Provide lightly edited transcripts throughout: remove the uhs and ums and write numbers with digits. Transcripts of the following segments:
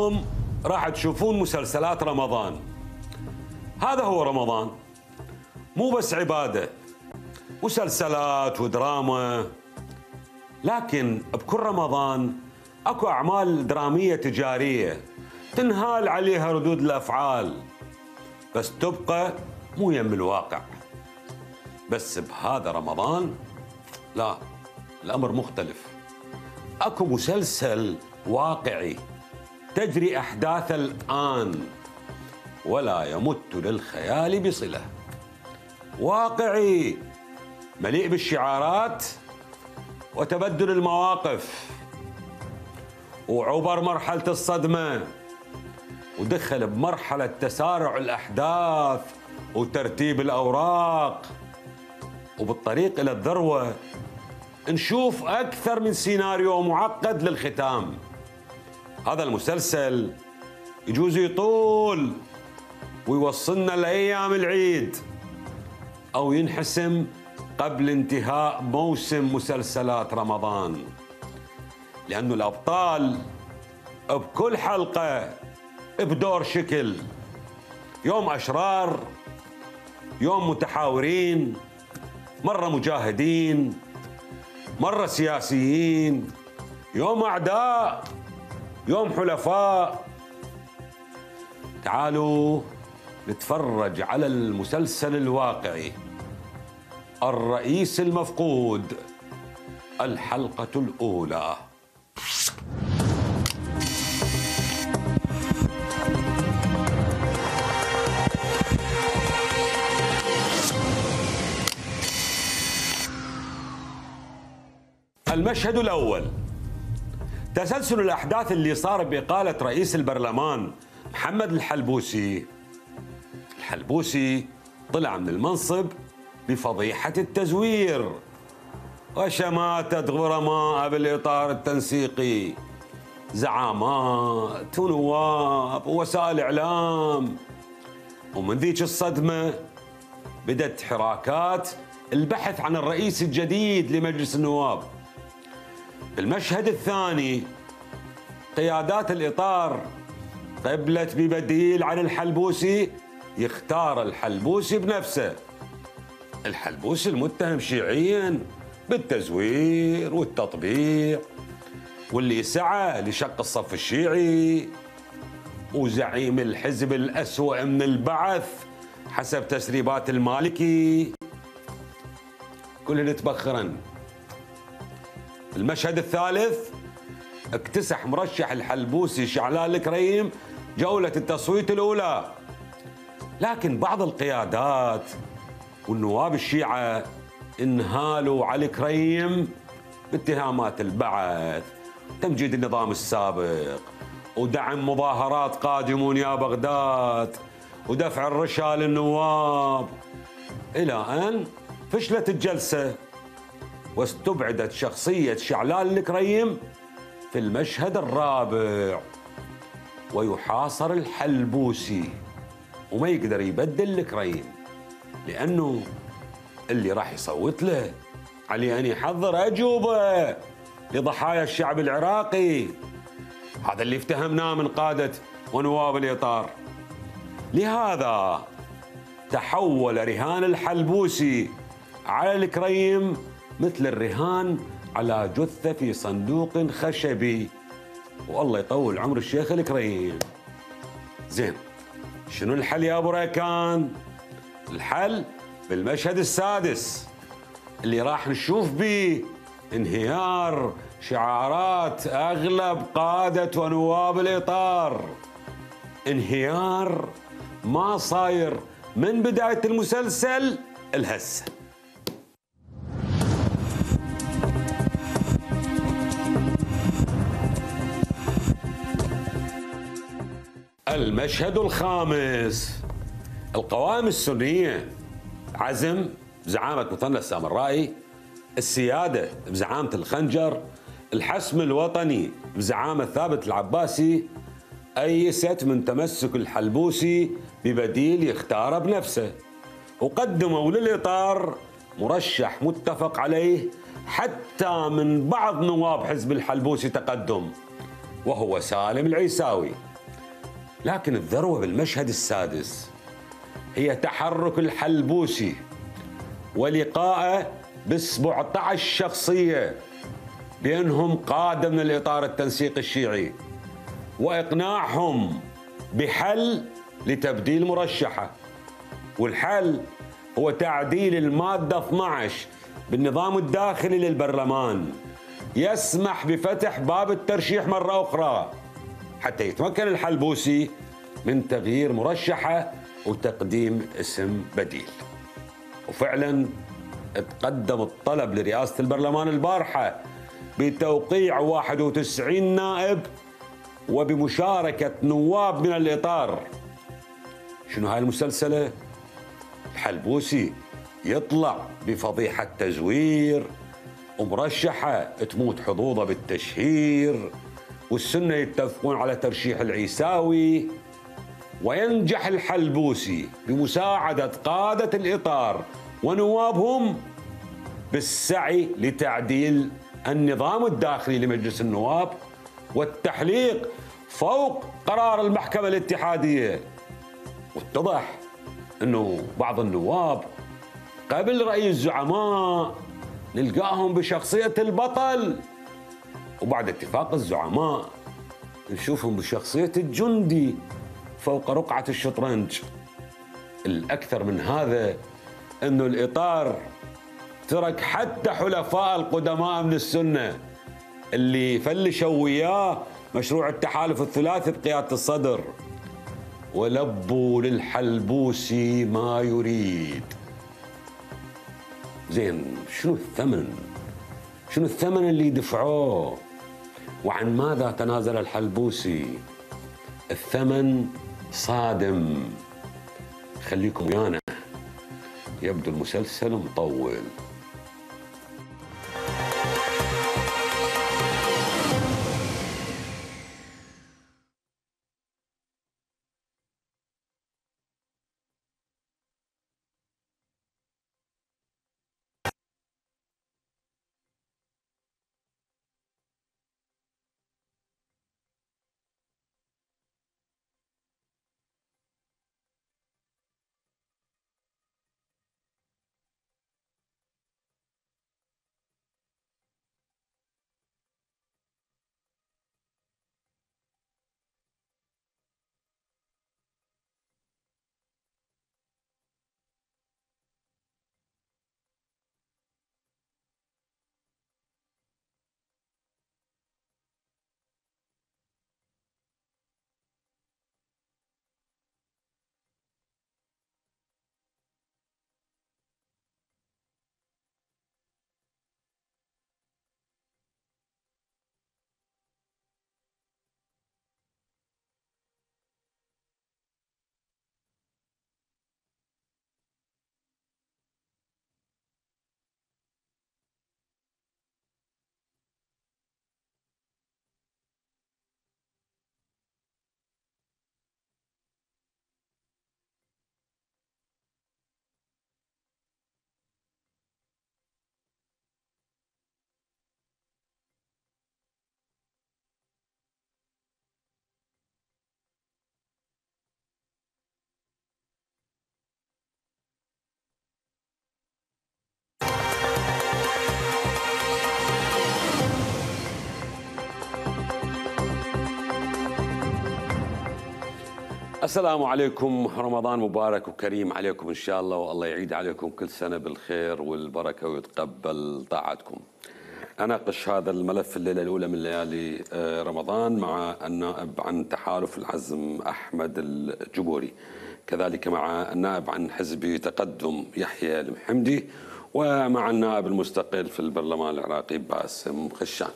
اليوم راح تشوفون مسلسلات رمضان. هذا هو رمضان، مو بس عبادة، مسلسلات ودراما، لكن بكل رمضان اكو اعمال درامية تجارية تنهال عليها ردود الافعال، بس تبقى مو يم الواقع. بس بهذا رمضان لا، الامر مختلف. اكو مسلسل واقعي تجري احداثه الان ولا يمت للخيال بصله. واقعي مليء بالشعارات وتبدل المواقف، وعبر مرحلة الصدمة ودخل بمرحلة تسارع الأحداث وترتيب الأوراق، وبالطريق إلى الذروة نشوف أكثر من سيناريو معقد للختام. هذا المسلسل يجوز يطول ويوصلنا لأيام العيد، أو ينحسم قبل انتهاء موسم مسلسلات رمضان، لأنه الأبطال بكل حلقة بدور شكل، يوم أشرار، يوم متحاورين، مرة مجاهدين، مرة سياسيين، يوم أعداء، يوم حلفاء. تعالوا نتفرج على المسلسل الواقعي الرئيس المفقود، الحلقة الأولى. المشهد الأول، تسلسل الأحداث اللي صار بإقالة رئيس البرلمان محمد الحلبوسي. الحلبوسي طلع من المنصب بفضيحة التزوير وشماتة غرماء بالإطار التنسيقي، زعامات ونواب ووسائل إعلام. ومن ذيك الصدمة بدأت حراكات البحث عن الرئيس الجديد لمجلس النواب. المشهد الثاني، قيادات الإطار قبلت ببديل عن الحلبوسي يختار الحلبوسي بنفسه. الحلبوسي المتهم شيعيا بالتزوير والتطبيع، واللي سعى لشق الصف الشيعي، وزعيم الحزب الأسوأ من البعث حسب تسريبات المالكي، كلهن تبخرن. المشهد الثالث، اكتسح مرشح الحلبوسي شعلان الكريم جولة التصويت الأولى، لكن بعض القيادات والنواب الشيعة انهالوا على الكريم باتهامات البعث، تمجيد النظام السابق، ودعم مظاهرات قادمون يا بغداد، ودفع الرشا للنواب، إلى أن فشلت الجلسة واستبعدت شخصية شعلان الكريم في المشهد الرابع. ويحاصر الحلبوسي وما يقدر يبدل الكريم، لأنه اللي راح يصوت له عليه أن يحضر أجوبة لضحايا الشعب العراقي. هذا اللي افتهمناه من قادة ونواب الإطار. لهذا تحول رهان الحلبوسي على الكريم مثل الرهان على جثة في صندوق خشبي. والله يطول عمر الشيخ الكريم. زين، شنو الحل يا ابو ريكان؟ الحل بالمشهد السادس اللي راح نشوف به انهيار شعارات اغلب قادة ونواب الاطار، انهيار ما صاير من بداية المسلسل الهسه. المشهد الخامس، القوائم السنية، عزم بزعامة مثنى السامرائي، السيادة بزعامة الخنجر، الحسم الوطني بزعامة ثابت العباسي، أيست من تمسك الحلبوسي ببديل يختاره بنفسه، وقدموا للإطار مرشح متفق عليه حتى من بعض نواب حزب الحلبوسي تقدم، وهو سالم العيساوي. لكن الذروة بالمشهد السادس هي تحرك الحلبوسي ولقائه ب 17 شخصية بأنهم قادة من الإطار التنسيقي الشيعي، وإقناعهم بحل لتبديل مرشحه. والحل هو تعديل المادة 12 بالنظام الداخلي للبرلمان، يسمح بفتح باب الترشيح مرة أخرى حتى يتمكن الحلبوسي من تغيير مرشحه وتقديم اسم بديل. وفعلا تقدم الطلب لرئاسة البرلمان البارحة بتوقيع 91 نائب وبمشاركة نواب من الإطار. شنو هاي المسلسلة؟ الحلبوسي يطلع بفضيحة تزوير، ومرشحة تموت حظوظه بالتشهير، والسنة يتفقون على ترشيح العيساوي، وينجح الحلبوسي بمساعدة قادة الإطار ونوابهم بالسعي لتعديل النظام الداخلي لمجلس النواب والتحليق فوق قرار المحكمة الاتحادية. واتضح أنه بعض النواب قبل رأي الزعماء نلقاهم بشخصية البطل، وبعد اتفاق الزعماء نشوفهم بشخصية الجندي فوق رقعة الشطرنج. الأكثر من هذا أنه الإطار ترك حتى حلفاء القدماء من السنة اللي فلشوا وياه مشروع التحالف الثلاثي بقيادة الصدر، ولبوا للحلبوسي ما يريد. زين، شنو الثمن؟ شنو الثمن اللي دفعوه؟ وعن ماذا تنازل الحلبوسي؟ الثمن صادم. خليكم ويانا، يبدو المسلسل مطول. السلام عليكم، رمضان مبارك وكريم عليكم إن شاء الله، والله يعيد عليكم كل سنة بالخير والبركة ويتقبل طاعتكم. أناقش هذا الملف الليلة الأولى من ليالي رمضان مع النائب عن تحالف العزم أحمد الجبوري، كذلك مع النائب عن حزب تقدم يحيى المحمدي، ومع النائب المستقل في البرلمان العراقي باسم خشان.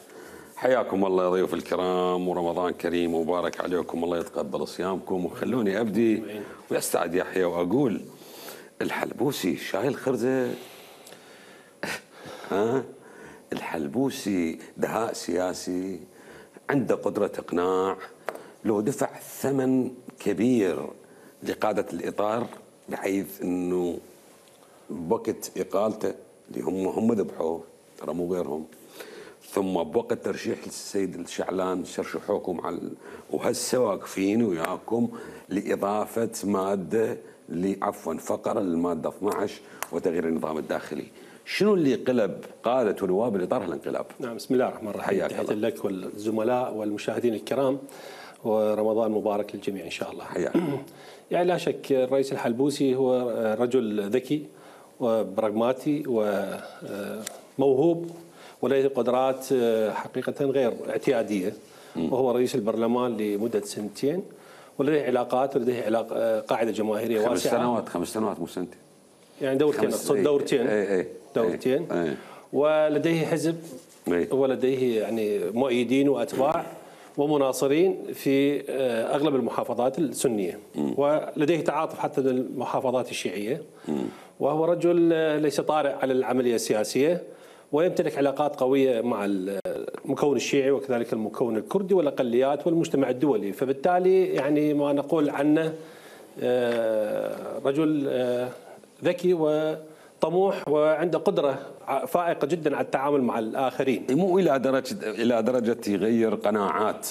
حياكم الله يا ضيوف الكرام، ورمضان كريم ومبارك عليكم، الله يتقبل صيامكم. وخلوني أبدي ويستعد يحيى وأقول الحلبوسي شايل خرزة. الحلبوسي دهاء سياسي، عنده قدرة إقناع، لو دفع ثمن كبير لقادة الإطار بحيث أنه بوقت إقالته اللي هم ذبحوه، ترى مو غيرهم، ثم بوقت ترشيح السيد الشعلان شرشحوكم وهسه واقفين وياكم لإضافة مادة فقرة للمادة 12 وتغيير النظام الداخلي. شنو اللي قلب قادة ونواب الإطار هالانقلاب؟ نعم، بسم الله الرحمن الرحيم. تحية لك والزملاء والمشاهدين الكرام، ورمضان مبارك للجميع إن شاء الله. حياك. يعني لا شك الرئيس الحلبوسي هو رجل ذكي وبراغماتي وموهوب ولديه قدرات حقيقة غير اعتيادية، وهو رئيس البرلمان لمدة 2 سنين، ولديه علاقات ولديه قاعدة جماهيرية واسعة. 5 سنوات مو سنتين، يعني دورتين. ولديه حزب ولديه يعني مؤيدين وأتباع ومناصرين في أغلب المحافظات السنية، ولديه تعاطف حتى للمحافظات الشيعية، وهو رجل ليس طارئ على العملية السياسية، ويمتلك علاقات قوية مع المكون الشيعي وكذلك المكون الكردي والأقليات والمجتمع الدولي. فبالتالي يعني ما نقول عنه رجل ذكي وطموح وعنده قدرة فائقة جدا على التعامل مع الآخرين. مو إلى درجة يغير قناعات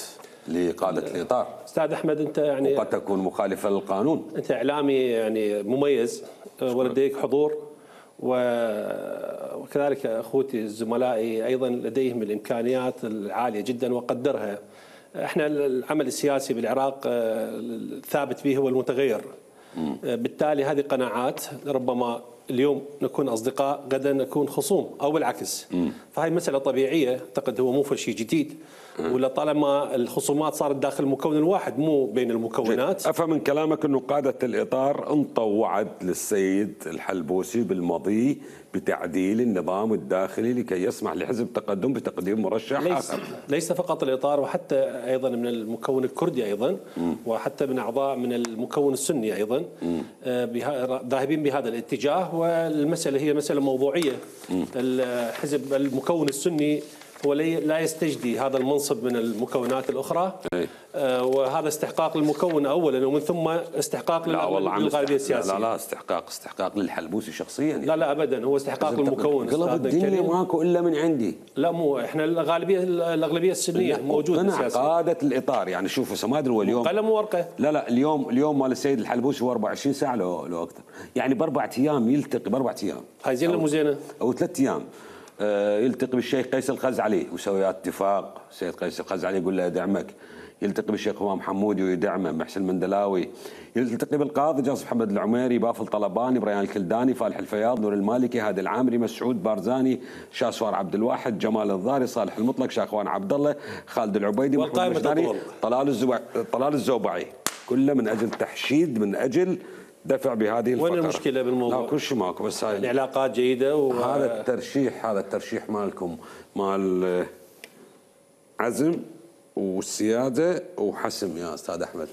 لقادة الإطار. أستاذ أحمد، أنت يعني وقد تكون مخالفة للقانون. أنت إعلامي يعني مميز ولديك حضور، وكذلك أخوتي زملائي أيضا لديهم الإمكانيات العالية جدا وقدرها. احنا العمل السياسي بالعراق ثابت به هو المتغير، بالتالي هذه قناعات ربما اليوم نكون أصدقاء غدا نكون خصوم أو بالعكس. فهي مسألة طبيعية، أعتقد هو مو شيء جديد، ولا طالما الخصومات صارت داخل المكون الواحد مو بين المكونات. أفهم من كلامك أنه قادة الإطار انطوا وعد للسيد الحلبوسي بالمضي بتعديل النظام الداخلي لكي يسمح لحزب تقدم بتقديم مرشح آخر. ليس فقط الإطار، وحتى أيضا من المكون الكردي أيضا، وحتى من أعضاء من المكون السني أيضا ذاهبين بهذا الاتجاه. والمسألة هي مسألة موضوعية. الحزب المكون السني هو لا يستجدي هذا المنصب من المكونات الأخرى، وهذا استحقاق للمكون أولا، ومن ثم استحقاق للغالبية السياسية. لا استحقاق للحلبوسي شخصيا يعني. لا أبدا، هو استحقاق للمكون. قلب الدنيا ماكو إلا من عندي. لا، مو احنا الأغلبية السنية موجودة سياسيا. قادة الإطار يعني شوفوا ما أدري اليوم قلم وورقة. لا اليوم مال السيد الحلبوسي هو 24 ساعة لو أكثر، يعني ب4 أيام يلتقي، ب4 أيام. هاي زينة مو زينة؟ أو 3 أيام. يلتقي بالشيخ قيس الخزعلي ويسوي اتفاق. السيد قيس الخزعلي يقول له يدعمك. يلتقي بالشيخ همام حمودي ويدعمه، محسن المندلاوي. يلتقي بالقاضي جاسم محمد العميري، بافل طلباني، بريان الكلداني، فالح الفياض، نور المالكي، هادي العامري، مسعود بارزاني، شاسوار عبد الواحد، جمال الضاري، صالح المطلق، شاخوان عبد الله، خالد العبيدي، محمود المشداني، طلال الزوبعي. كله من اجل تحشيد، من اجل دفع بهذه الفقرة. وين المشكلة بالموضوع؟ لا كل شيء ماكو، بس هاي العلاقات جيدة هذا الترشيح مالكم مال عزم والسيادة وحسم يا أستاذ أحمد.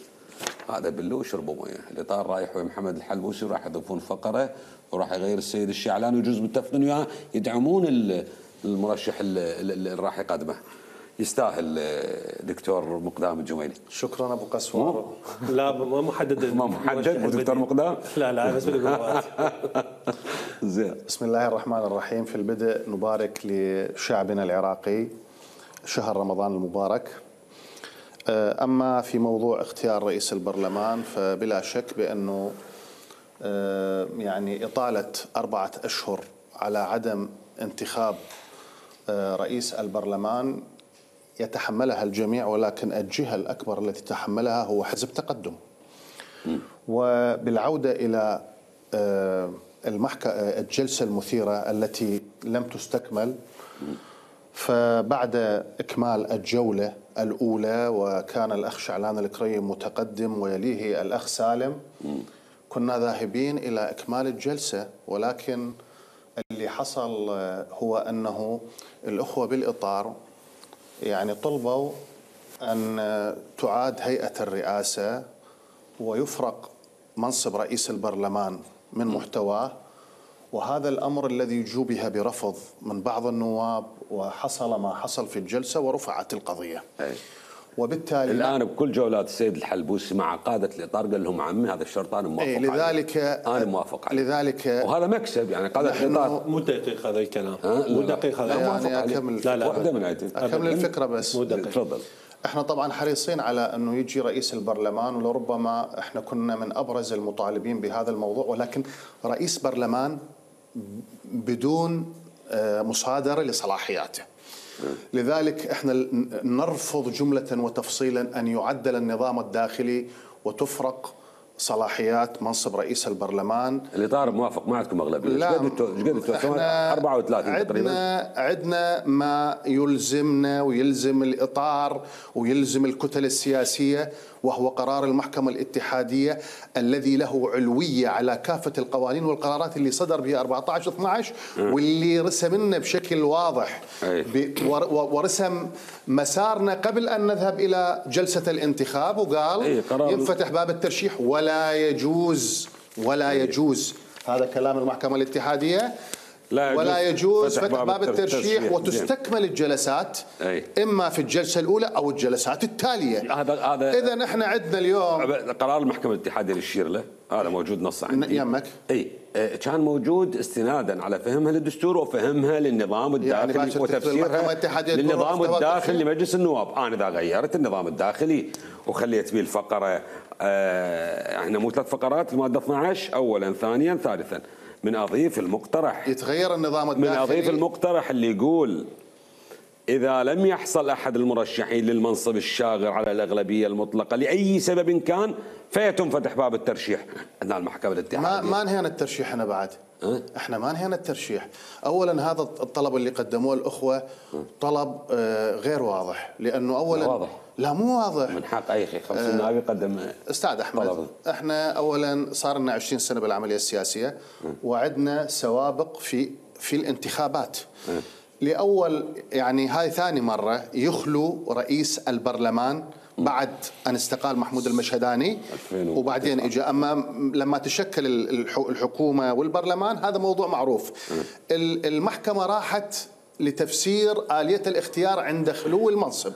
هذا بلو وشربوا مويه. الإطار رايح ويا محمد الحلبوسي وراح يضيفون فقرة وراح يغير السيد الشعلان، ويجوز متفقين وياه يدعمون المرشح اللي راح يقدمه. يستاهل دكتور مقدام الجميلي. شكرا ابو قسوار. لا ما محدد دكتور مقدام. لا بس زين. بسم الله الرحمن الرحيم. في البدء نبارك لشعبنا العراقي شهر رمضان المبارك. اما في موضوع اختيار رئيس البرلمان فبلا شك بانه يعني اطاله 4 أشهر على عدم انتخاب رئيس البرلمان يتحملها الجميع، ولكن الجهة الأكبر التي تحملها هو حزب تقدم. وبالعودة إلى الجلسة المثيرة التي لم تستكمل، فبعد إكمال الجولة الأولى وكان الأخ شعلان الكريم متقدم ويليه الأخ سالم، كنا ذاهبين إلى إكمال الجلسة، ولكن اللي حصل هو أنه الأخوة بالإطار يعني طلبوا أن تعاد هيئة الرئاسة ويفرق منصب رئيس البرلمان من محتواه، وهذا الأمر الذي جوبه برفض من بعض النواب، وحصل ما حصل في الجلسة ورفعت القضية. وبالتالي الان بكل جولات السيد الحلبوسي مع قاده الاطار قال لهم عمي هذا الشرط انا موافق عليه. لذلك انا موافق عليه. لذلك وهذا مكسب يعني قاده الاطار. مو دقيق هذا الكلام، مو دقيق هذا. يعني اكمل الفكره بس. تفضل. احنا طبعا حريصين على انه يجي رئيس البرلمان، ولربما احنا كنا من ابرز المطالبين بهذا الموضوع، ولكن رئيس برلمان بدون مصادره لصلاحياته. لذلك احنا نرفض جمله وتفصيلا ان يعدل النظام الداخلي وتفرق صلاحيات منصب رئيس البرلمان. الاطار موافق، ما عندكم اغلبيه. لا، احنا 34 تقريبا. عندنا ما يلزمنا ويلزم الاطار ويلزم الكتل السياسيه، وهو قرار المحكمه الاتحاديه الذي له علويه على كافه القوانين والقرارات اللي صدر بها 14/12 واللي رسم لنا بشكل واضح ورسم مسارنا قبل ان نذهب الى جلسه الانتخاب، وقال ينفتح باب الترشيح ولا يجوز هذا كلام المحكمه الاتحاديه، ولا يجوز فتح باب الترشيح وتستكمل الجلسات اما في الجلسه الاولى او الجلسات التاليه. هذا اذا احنا عندنا اليوم قرار المحكمه الاتحاديه اللي يشير له، هذا موجود نص عندي يمك. كان موجود استنادا على فهمها للدستور وفهمها للنظام الداخلي يعني وتفسيرها للنظام الداخلي لمجلس النواب. انا اذا غيرت النظام الداخلي وخليت به الفقره احنا مو 3 فقرات الماده 12 اولا ثانيا ثالثا، من اضيف المقترح يتغير النظام الداخلي، من اضيف المقترح اللي يقول إذا لم يحصل أحد المرشحين للمنصب الشاغر على الأغلبية المطلقة لأي سبب كان فيتم فتح باب الترشيح. عندنا المحكمة الاتحادية ما انهينا الترشيح. أنا بعد احنا ما انهينا الترشيح. أولا هذا الطلب اللي قدموه الأخوة طلب غير واضح، لأنه أولا واضح. لا مو واضح. من حق أي 50 نائب يقدم. أستاذ أحمد، احنا أولا صار لنا 20 سنة بالعملية السياسية وعدنا سوابق في الانتخابات. لأول يعني هاي ثاني مرة يخلو رئيس البرلمان بعد أن استقال محمود المشهداني وبعدين إجا. أما لما تشكل الحكومة والبرلمان هذا موضوع معروف. المحكمة راحت لتفسير آلية الاختيار عند خلو المنصب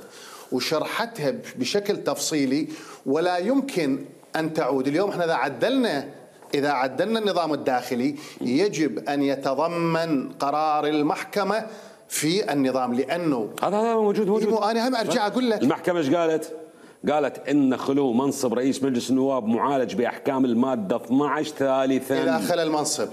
وشرحتها بشكل تفصيلي، ولا يمكن أن تعود. اليوم احنا إذا عدلنا النظام الداخلي يجب أن يتضمن قرار المحكمة في النظام، لأنه هذا موجود. أنا هم أرجع أقول لك المحكمة ايش قالت؟ قالت إن خلو منصب رئيس مجلس النواب معالج بأحكام المادة 12 ثالثا إذا خلى المنصب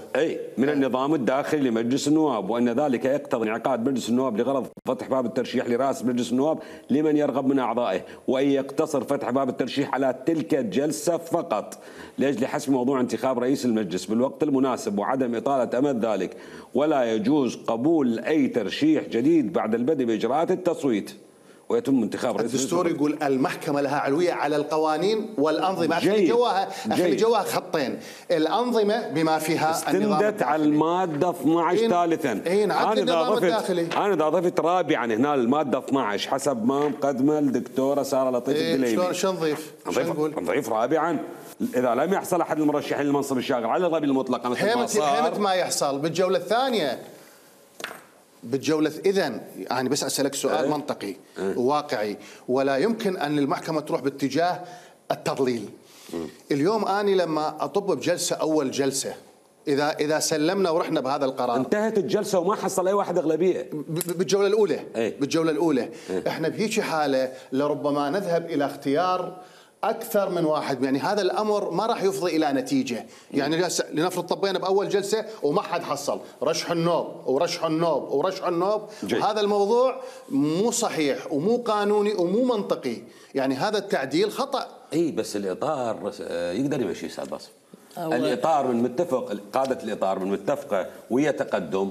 من النظام الداخلي لمجلس النواب، وأن ذلك يقتضي انعقاد مجلس النواب لغرض فتح باب الترشيح لرئاسة مجلس النواب لمن يرغب من أعضائه، وأن يقتصر فتح باب الترشيح على تلك الجلسة فقط لأجل حسم موضوع انتخاب رئيس المجلس بالوقت المناسب وعدم إطالة أمد ذلك، ولا يجوز قبول أي ترشيح جديد بعد البدء بإجراءات التصويت ويتم انتخاب رئيس. الدستور يقول المحكمة لها علوية على القوانين والأنظمة. أخلي جواها خطين، الأنظمة بما فيها استندت على المادة 12 ثالثا. أنا إذا ضفت رابعا هنا المادة 12 حسب ما مقدمة الدكتورة سارة لطيف الدليمي. شلون نضيف؟ نضيف رابعا إذا لم يحصل أحد المرشحين للمنصب الشاغر على الأغلبية المطلقة مثل ما صار. حيمة ما يحصل بالجولة الثانية. إذن يعني بس أسألك سؤال منطقي وواقعي، ولا يمكن أن المحكمة تروح باتجاه التضليل. اليوم أنا لما أطب بجلسة أول جلسة إذا سلمنا ورحنا بهذا القرار انتهت الجلسة وما حصل أي واحد أغلبية بالجولة الأولى. إحنا بهيك حالة لربما نذهب إلى اختيار أكثر من واحد. يعني هذا الأمر ما راح يفضي إلى نتيجة. يعني لنفرض طبينا بأول جلسة وما حد حصل، رشح النوب. وهذا الموضوع مو صحيح ومو قانوني ومو منطقي. يعني هذا التعديل خطأ. بس الإطار يقدر يمشي أستاذ باسم. الإطار من متفق، قادة الإطار من متفقة ويا تقدم،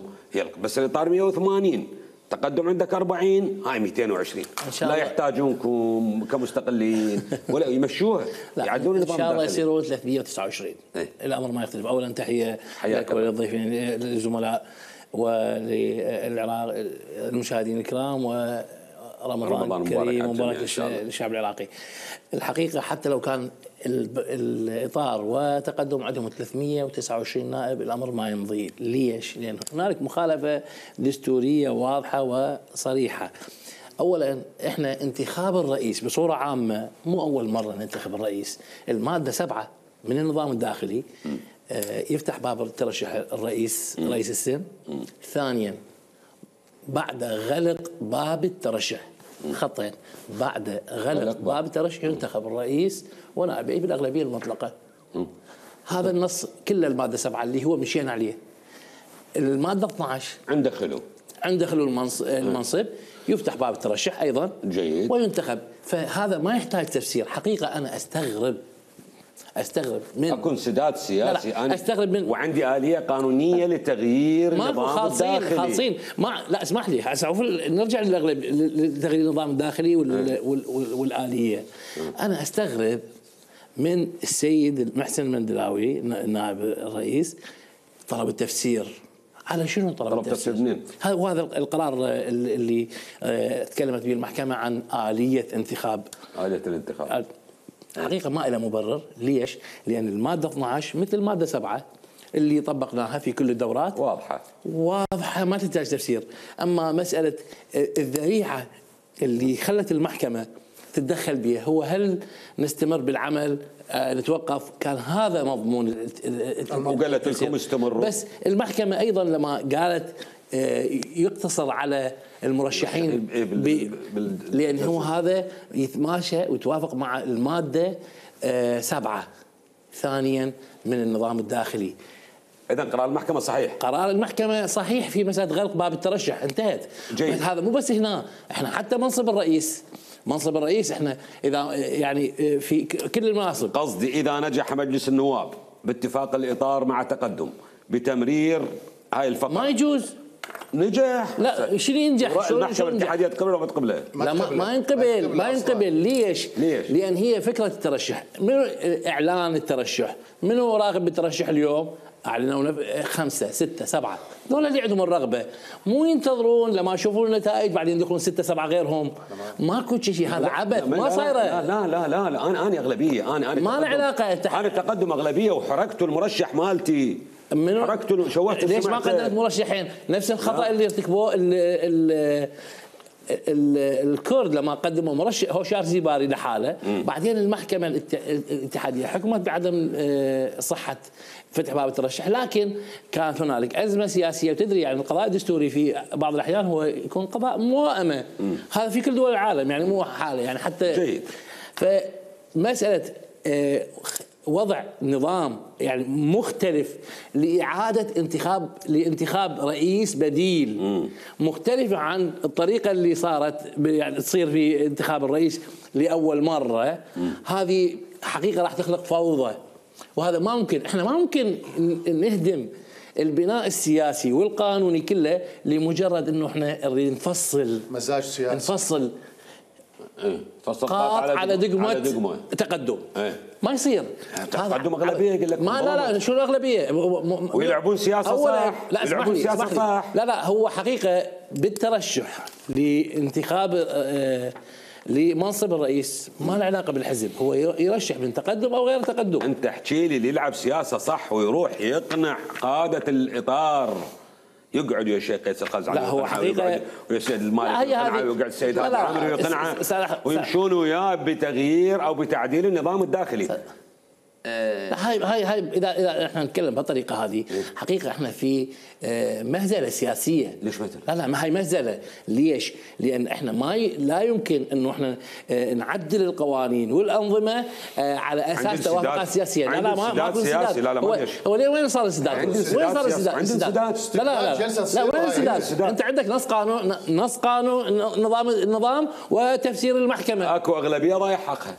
بس الإطار 180 تقدم عندك 40 هاي 220 لا يحتاجونكم كمستقلين ولا يمشوها يعدلون النظام ان شاء الله يصيروا 329. الامر ما يختلف. اولا تحيه لك وللضيفين للزملاء وللعراق المشاهدين الكرام، ورمضان كريم ومبارك للشعب العراقي. الحقيقه حتى لو كان الإطار وتقدم عندهم 329 نائب الأمر ما يمضي. ليش؟ لأن هنالك مخالفة دستورية واضحة وصريحة. اولا احنا انتخاب الرئيس بصوره عامه مو اول مره ننتخب الرئيس. الماده 7 من النظام الداخلي يفتح باب الترشح الرئيس رئيس السن. ثانيا بعد غلق باب الترشح، خطين، بعد غلق باب الترشح ينتخب الرئيس ونائبيه بالاغلبيه المطلقه. هذا النص كله الماده 7 اللي هو مشينا عليه. الماده 12 عند خلو المنصب يفتح باب الترشح ايضا، جيد، وينتخب. فهذا ما يحتاج تفسير. حقيقه انا استغرب من اكون سداد سياسي. لا استغرب من وعندي آلية قانونية لتغيير النظام الداخلي. خالصين لا اسمح لي نرجع لتغيير النظام الداخلي والآلية. انا استغرب من السيد محسن المندلاوي نائب الرئيس طلب التفسير. على شنو طلب التفسير؟ منين؟ وهذا القرار اللي تكلمت به المحكمة عن آلية الانتخاب. حقيقة ما له مبرر. ليش؟ لأن المادة 12 مثل المادة 7 اللي طبقناها في كل الدورات واضحة ما تحتاج تفسير. أما مسألة الذريعة اللي خلت المحكمة تتدخل بها هو هل نستمر بالعمل نتوقف، كان هذا مضمون قالت لكم استمروا. بس المحكمة أيضا لما قالت يقتصر على المرشحين لأن هو هذا يتماشى ويتوافق مع المادة 7 ثانيا من النظام الداخلي. إذا قرار المحكمة صحيح. قرار المحكمة صحيح في مسألة غلق باب الترشح، انتهت. جيد. هذا مو بس هنا، احنا حتى منصب الرئيس احنا اذا يعني في كل المناصب. قصدي اذا نجح مجلس النواب باتفاق الاطار مع تقدم بتمرير هاي الفقره ما يجوز. نجح. لا شنو ينجح؟ المحكمة الاتحادية تقبل ولا ما تقبله؟ لا ما ينقبل. ليش؟ لأن هي فكرة الترشح، منو إعلان الترشح؟ منو راغب بالترشح اليوم؟ أعلنوا 5 6 7 دول اللي عندهم الرغبة، مو ينتظرون لما يشوفون النتائج بعدين يدخلون 6 7 غيرهم. ماكو شيء، هذا عبث ما صايره. لا أنا أغلبية. أنا ما له علاقة. أنا تقدم أغلبية وحركت المرشح مالتي. حركت شوهت. ليش ما قدمت مرشحين؟ نفس الخطأ اللي ارتكبوه الكرد لما قدموا مرشح هوشار زيباري لحاله. بعدين المحكمة الاتحادية حكمت بعدم صحة فتح باب الترشح، لكن كانت هنالك أزمة سياسية. وتدري يعني القضاء الدستوري في بعض الأحيان هو يكون قضاء موائمة. هذا في كل دول العالم يعني مو حالة يعني حتى. جيد. فمسألة وضع نظام يعني مختلف لإعادة لانتخاب رئيس بديل مختلفة عن الطريقة اللي صارت يعني تصير في انتخاب الرئيس لأول مرة. هذه حقيقة راح تخلق فوضى، وهذا ما ممكن. احنا ما ممكن نهدم البناء السياسي والقانوني كله لمجرد انه احنا نريد نفصل مزاج سياسي، نفصل قاط على دقمة تقدم. ما يصير. تقدم أغلبية يقول لك ما لا شو الأغلبية ويلعبون سياسة صح. لا يلعبون سياسة صح. لا هو حقيقة بالترشح لانتخاب لمنصب الرئيس ما له علاقة بالحزب، هو يرشح من تقدم أو غير تقدم. أنت احكي لي اللي يلعب سياسة صح ويروح يقنع قادة الإطار، يقعد يا شيخ قيس القزعي لا هو حقيقة ويا سيد المالك يقنعه، ويقعد السيد هذا العامري ويقنعه ويمشون وياه بتغيير أو بتعديل النظام الداخلي. هاي اذا احنا نتكلم بهالطريقه هذه حقيقه احنا في مهزله سياسيه. ليش مهزله؟ لا ما هي مهزله. ليش؟ لان احنا لا يمكن انه احنا نعدل القوانين والانظمه على اساس توافقات سياسيه. لا ما في سياسي. لا هو وين صار السداد؟ وين صار السداد؟ لا وين السداد؟ انت عندك نص قانون نظام وتفسير المحكمه. اكو اغلبيه ضايع حقها.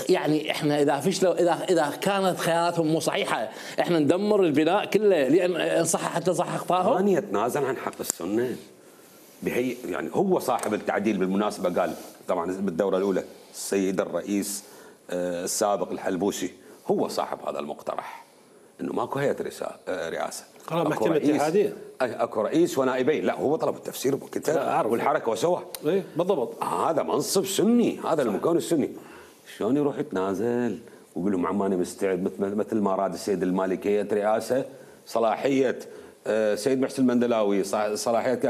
يعني احنا اذا فشلوا اذا كانت خياراتهم مو صحيحه احنا ندمر البناء كله لان صح حتى صح اخطائهم. ثاني يتنازل عن حق السنه بهي يعني هو صاحب التعديل بالمناسبه. قال طبعا بالدوره الاولى السيد الرئيس السابق الحلبوسي هو صاحب هذا المقترح انه ماكو هيئه رئاسه. قرار محكمه الاتحاديه اكو رئيس ونائبين. لا هو طلب التفسير بالكتاب والحركه وسواه. اي بالضبط. هذا منصب سني، هذا المكون السني. شلون يروح يتنازل ويقول لهم عماني مستعد مثل ما راد السيد المالكي هيئه رئاسه صلاحيه سيد محسن المندلاوي صلاحيات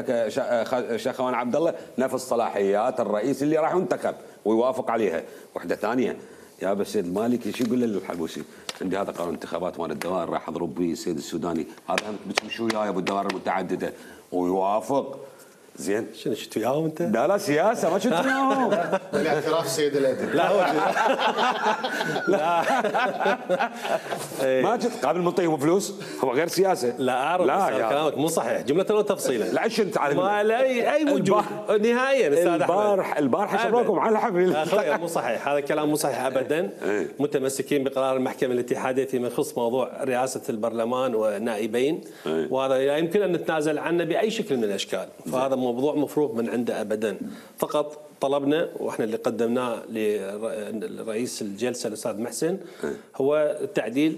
شاخوان عبد الله نفس صلاحيات الرئيس اللي راح ينتخب ويوافق عليها. وحده ثانيه يا بس السيد المالكي شو يقول للحلبوسي؟ عندي هذا قانون انتخابات مال الدوائر راح اضرب به السيد السوداني، هذا بتمشي وياي ابو الدوائر المتعدده ويوافق. زين شنو شفت وياهم انت؟ لا سياسه ما شفت وياهم. بالاعتراف سيد الادب. لا هو لا ما شفت قابل منطيهم فلوس هو غير سياسه. لا اعرف لا كلامك مو صحيح جمله وتفصيلا. لا انت عارف ما لا اي وجود نهائيا استاذ احمد. البارح شروكم على الحفل. اخوي مو صحيح، هذا الكلام مو صحيح ابدا. متمسكين بقرار المحكمه الاتحاديه فيما يخص موضوع رئاسه البرلمان والنائبين، وهذا لا يمكن ان نتنازل عنه باي شكل من الاشكال، فهذا موضوع مفروغ من عنده ابدا. فقط طلبنا واحنا اللي قدمناه لرئيس الجلسه الاستاذ محسن هو تعديل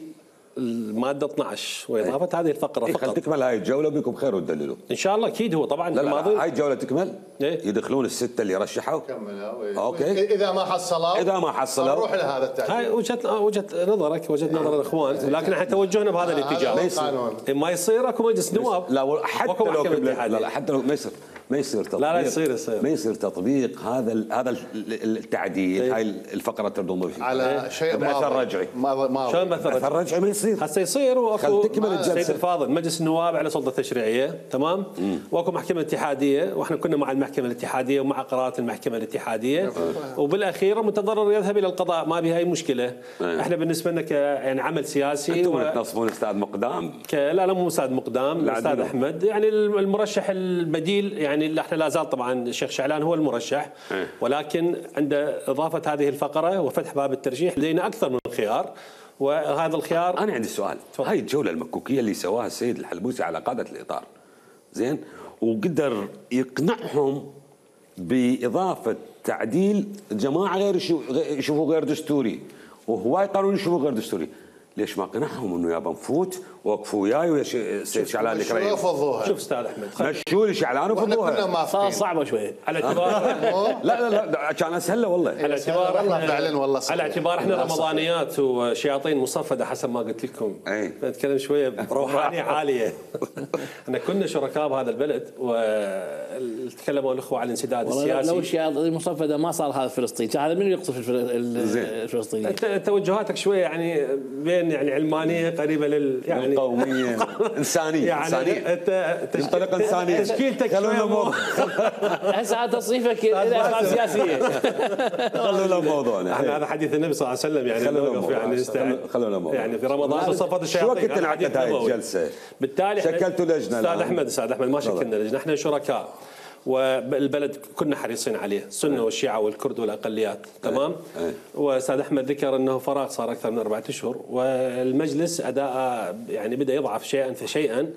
الماده 12 واضافه هذه الفقره فقط. خل تكمل هاي الجوله وبيكم بخير وتدللوا ان شاء الله. اكيد هو طبعا لا هاي الجوله تكمل. يدخلون السته اللي رشحوا اوكي اذا ما حصلوا نروح لهذا التعديل. هاي وجهه نظرك، وجهه نظر الاخوان، لكن احنا توجهنا بهذا الاتجاه. ما يصير اكو مجلس نواب. لا حتى لو لا حتى لو ما يصير تطبيق. لا يصير ما يصير تطبيق هذا التعديل. هاي الفقره تردون فيه على شيء باثر رجعي. شلون باثر رجعي؟ ما يصير. هسه يصير واكو تكمل الجلسه. سيد الفاضل مجلس النواب على سلطه تشريعيه تمام، واكو محكمه اتحاديه، واحنا كنا مع المحكمه الاتحاديه ومع قرارات المحكمه الاتحاديه، وبالاخير متضرر يذهب الى القضاء، ما بها اي مشكله. احنا بالنسبه لنا يعني عمل سياسي. انتم تنصبون استاذ مقدام؟ لا مو استاذ مقدام، الاستاذ احمد يعني المرشح البديل، يعني احنا لا زال طبعا الشيخ شعلان هو المرشح، ولكن عند اضافه هذه الفقره وفتح باب الترشيح لدينا اكثر من خيار، وهذا الخيار. انا عندي سؤال. هاي الجوله المكوكيه اللي سواها السيد الحلبوسي على قاده الاطار زين، وقدر يقنعهم باضافه تعديل جماعه غير يشوفوا غير دستوري، وهواي قانون يشوفوا غير دستوري، ليش ما قنعهم انه يابا نفوت وقفوا وياي ويا سيد شعلان الكريم؟ شوف استاذ احمد مشوا لي شعلان وفضوها. صعبه شويه على اعتبار لا كان اسهل والله. على اعتبار فعلا والله على اعتبار احنا رمضانيات وشياطين مصفده حسب ما قلت لكم. نتكلم شويه بروحانيه عاليه. احنا كنا شركاء بهذا البلد، وتكلموا الاخوه عن الانسداد السياسي. لو الشياطين مصفده ما صار هذا فلسطين، هذا من يقصف الفلسطينيين؟ توجهاتك شويه يعني بين يعني علمانيه قريبه يعني قوميه انسانيه يعني تنطلق انسانيه. تشكيلتك هسه تصنيفك الى افعال سياسيه. خلونا موضوعنا. احنا هذا حديث النبي صلى الله عليه وسلم يعني نوقف يعني خلونا موضوع. يعني في رمضان صفت الشياطين. شو وقت انعقدت هاي الجلسه؟ بالتالي شكلتوا لجنه. استاذ احمد ما شكلنا لجنه، احنا شركاء والبلد كنا حريصين عليه، السنه والشيعه والكرد والاقليات تمام. واستاذ احمد ذكر انه فراغ صار اكثر من 4 اشهر، والمجلس اداء يعني بدا يضعف شيئا فشيئا،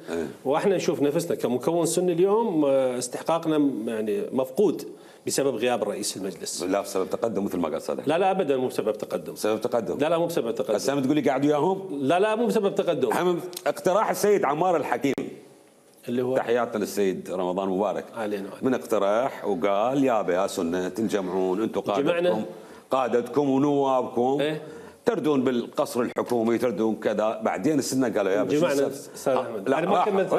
واحنا نشوف نفسنا كمكون سني اليوم استحقاقنا يعني مفقود بسبب غياب رئيس المجلس. لا بسبب تقدم مثل ما قال صادق. لا ابدا مو بسبب تقدم. سبب تقدم. لا مو بسبب تقدم. هسه تقول لي قاعد وياهم؟ لا مو بسبب تقدم. اقتراح السيد عمار الحكيم اللي هو تحياتنا للسيد رمضان مبارك علينا. من اقتراح وقال يا سنه تنجمعون انتم قادتكم ونوابكم تردون بالقصر الحكومي، تردون كذا. بعدين السنه قالوا يا جمعنا استاذ احمد. انا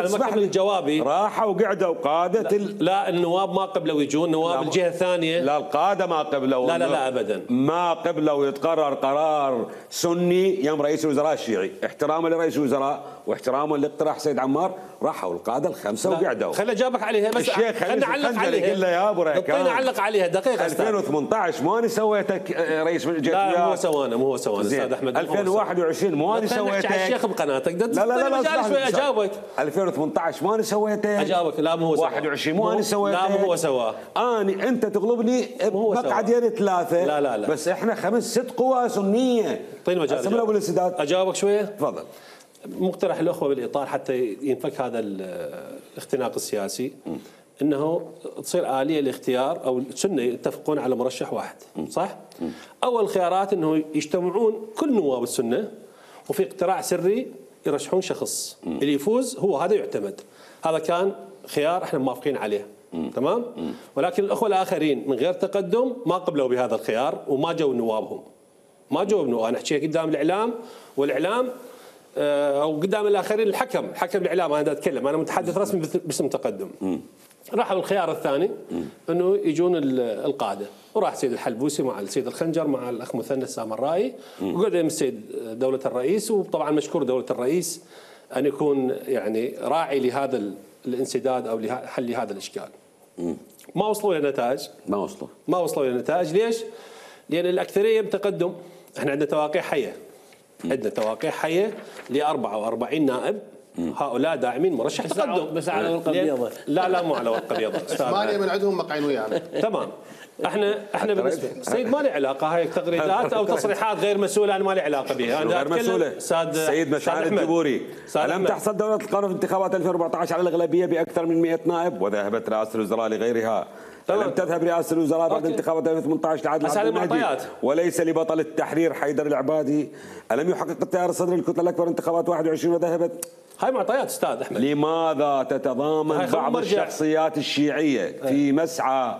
ما كملت جوابي. راحوا وقعدوا قاده لا النواب ما قبلوا يجون، نواب الجهه الثانيه. لا القاده ما قبلوا. لا ابدا ما قبلوا يتقرر قرار سني يم رئيس الوزراء الشيعي، احتراما لرئيس الوزراء واحتراما لاقتراح سيد عمار. راحوا القاده الخمسه وقعدوا. خليني اجاوبك عليها بس خلينا نعلق عليها. قل له يا ابو ريكان اعلق عليها دقيقه. 2018 ماني سويتك رئيس جيت. لا مو هو سوانا استاذ احمد. 2021 ماني سويتك. الشيخ بقناتك. لا شوي اجاوبك. 2018 ماني سويتك. اجاوبك. لا مو هو سوا. 21 ماني سويتك. لا مو هو سوا. انت تغلبني مقعدين 3. لا بس احنا 5-6 قوى سنيه. اعطيني مجال اجاوبك شويه. تفضل. مقترح الاخوه بالاطار حتى ينفك هذا الاختناق السياسي، انه تصير اليه لاختيار او السنه يتفقون على مرشح واحد، صح؟ اول خيارات انه يجتمعون كل نواب السنه وفي اقتراع سري يرشحون شخص، اللي يفوز هو هذا يعتمد. هذا كان خيار احنا موافقين عليه، تمام؟ ولكن الاخوه الاخرين من غير تقدم ما قبلوا بهذا الخيار وما جو نوابهم. ما جو بنواب. انا احكي قدام الاعلام، والاعلام او قدام الاخرين الحكم الاعلام، انا اتكلم انا متحدث رسمي باسم تقدم. راحوا الخيار الثاني انه يجون القاده، وراح سيد الحلبوسي مع السيد الخنجر مع الاخ مثنى السامرائي، وقعد يم السيد دوله الرئيس، وطبعا مشكور دوله الرئيس ان يكون يعني راعي لهذا الانسداد او لحل هذا الاشكال. ما وصلوا الى نتائج، ما وصلوا الى نتائج. ليش؟ لان الاكثريه بتقدم. احنا عندنا تواقيع حيه، عندنا تواقيع حيه ل 44 نائب، هؤلاء داعمين مرشح تقدم بس على ورقه بيضاء. لا مو على ورقه بيضاء. 8 من عندهم مقعين ويانا. تمام. احنا بالنسبه السيد ما له علاقه، هاي تغريدات او تصريحات غير مسؤوله، انا ما لي علاقه بها. غير مسؤوله. سيد مشعل الجبوري، الم تحصل دوله القانون في انتخابات 2014 على الاغلبيه باكثر من 100 نائب، وذهبت رئاسه الوزراء لغيرها. لم تذهب رئاسه الوزراء بعد انتخابات 2018 لعادل عبد المهدي وليس لبطل التحرير حيدر العبادي. الم يحقق التيار الصدري الكتله الاكبر انتخابات 21 وذهبت؟ هاي معطيات استاذ احمد. لماذا تتضامن بعض الشخصيات الشيعيه في مسعى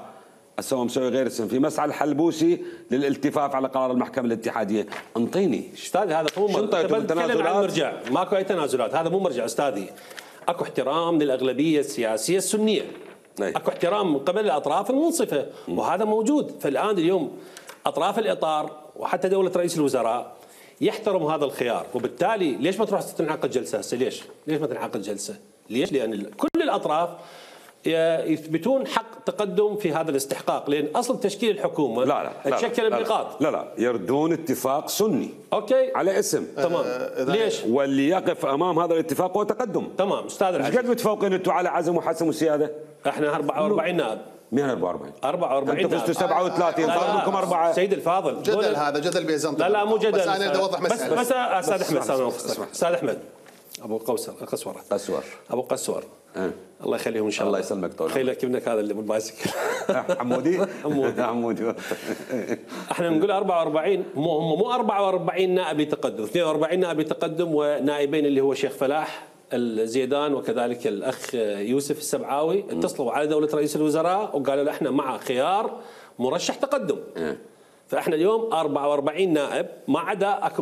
اسوي مسوي غير اسم في مسعى الحلبوسي للالتفاف على قرار المحكمه الاتحاديه؟ انطيني استاذ. هذا مو مرجع، ماكو اي تنازلات، هذا مو مرجع استاذي. اكو احترام للاغلبيه السياسيه السنيه، اكو احترام من قبل الاطراف المنصفه، وهذا موجود. فالان اليوم اطراف الاطار وحتى دوله رئيس الوزراء يحترم هذا الخيار، وبالتالي ليش ما تروح تنعقد جلسه هسه؟ ليش ما تنعقد جلسه؟ ليش؟ لان كل الاطراف يثبتون حق تقدم في هذا الاستحقاق، لان اصل تشكيل الحكومه لا تشكل بنقاط. لا يردون اتفاق سني اوكي على اسم. تمام. ليش؟ واللي يقف امام هذا الاتفاق هو تقدم. تمام استاذ العزيز. ايش قد متفوقين انتم على عزم وحسم وسياده؟ احنا 44 نائب. مين 44 انتم فزتوا 37 صار لكم 4. سيد الفاضل جدل هذا جدل بيزنطي. لا مو جدل، بس انا بدي اوضح مساله. بس استاذ احمد استاذ احمد ابو قسور ابو قسور الله يخليهم ان شاء الله. الله يسلمك طول. خليك ابنك هذا اللي بالبايسكل عمودي. احنا نقول 44 مو 44 نائب لتقدم، 42 نائب لتقدم ونائبين اللي هو شيخ فلاح الزيدان وكذلك الاخ يوسف السبعاوي اتصلوا على دوله رئيس الوزراء وقالوا له احنا مع خيار مرشح تقدم. فاحنا اليوم 44 نائب، ما عدا اكو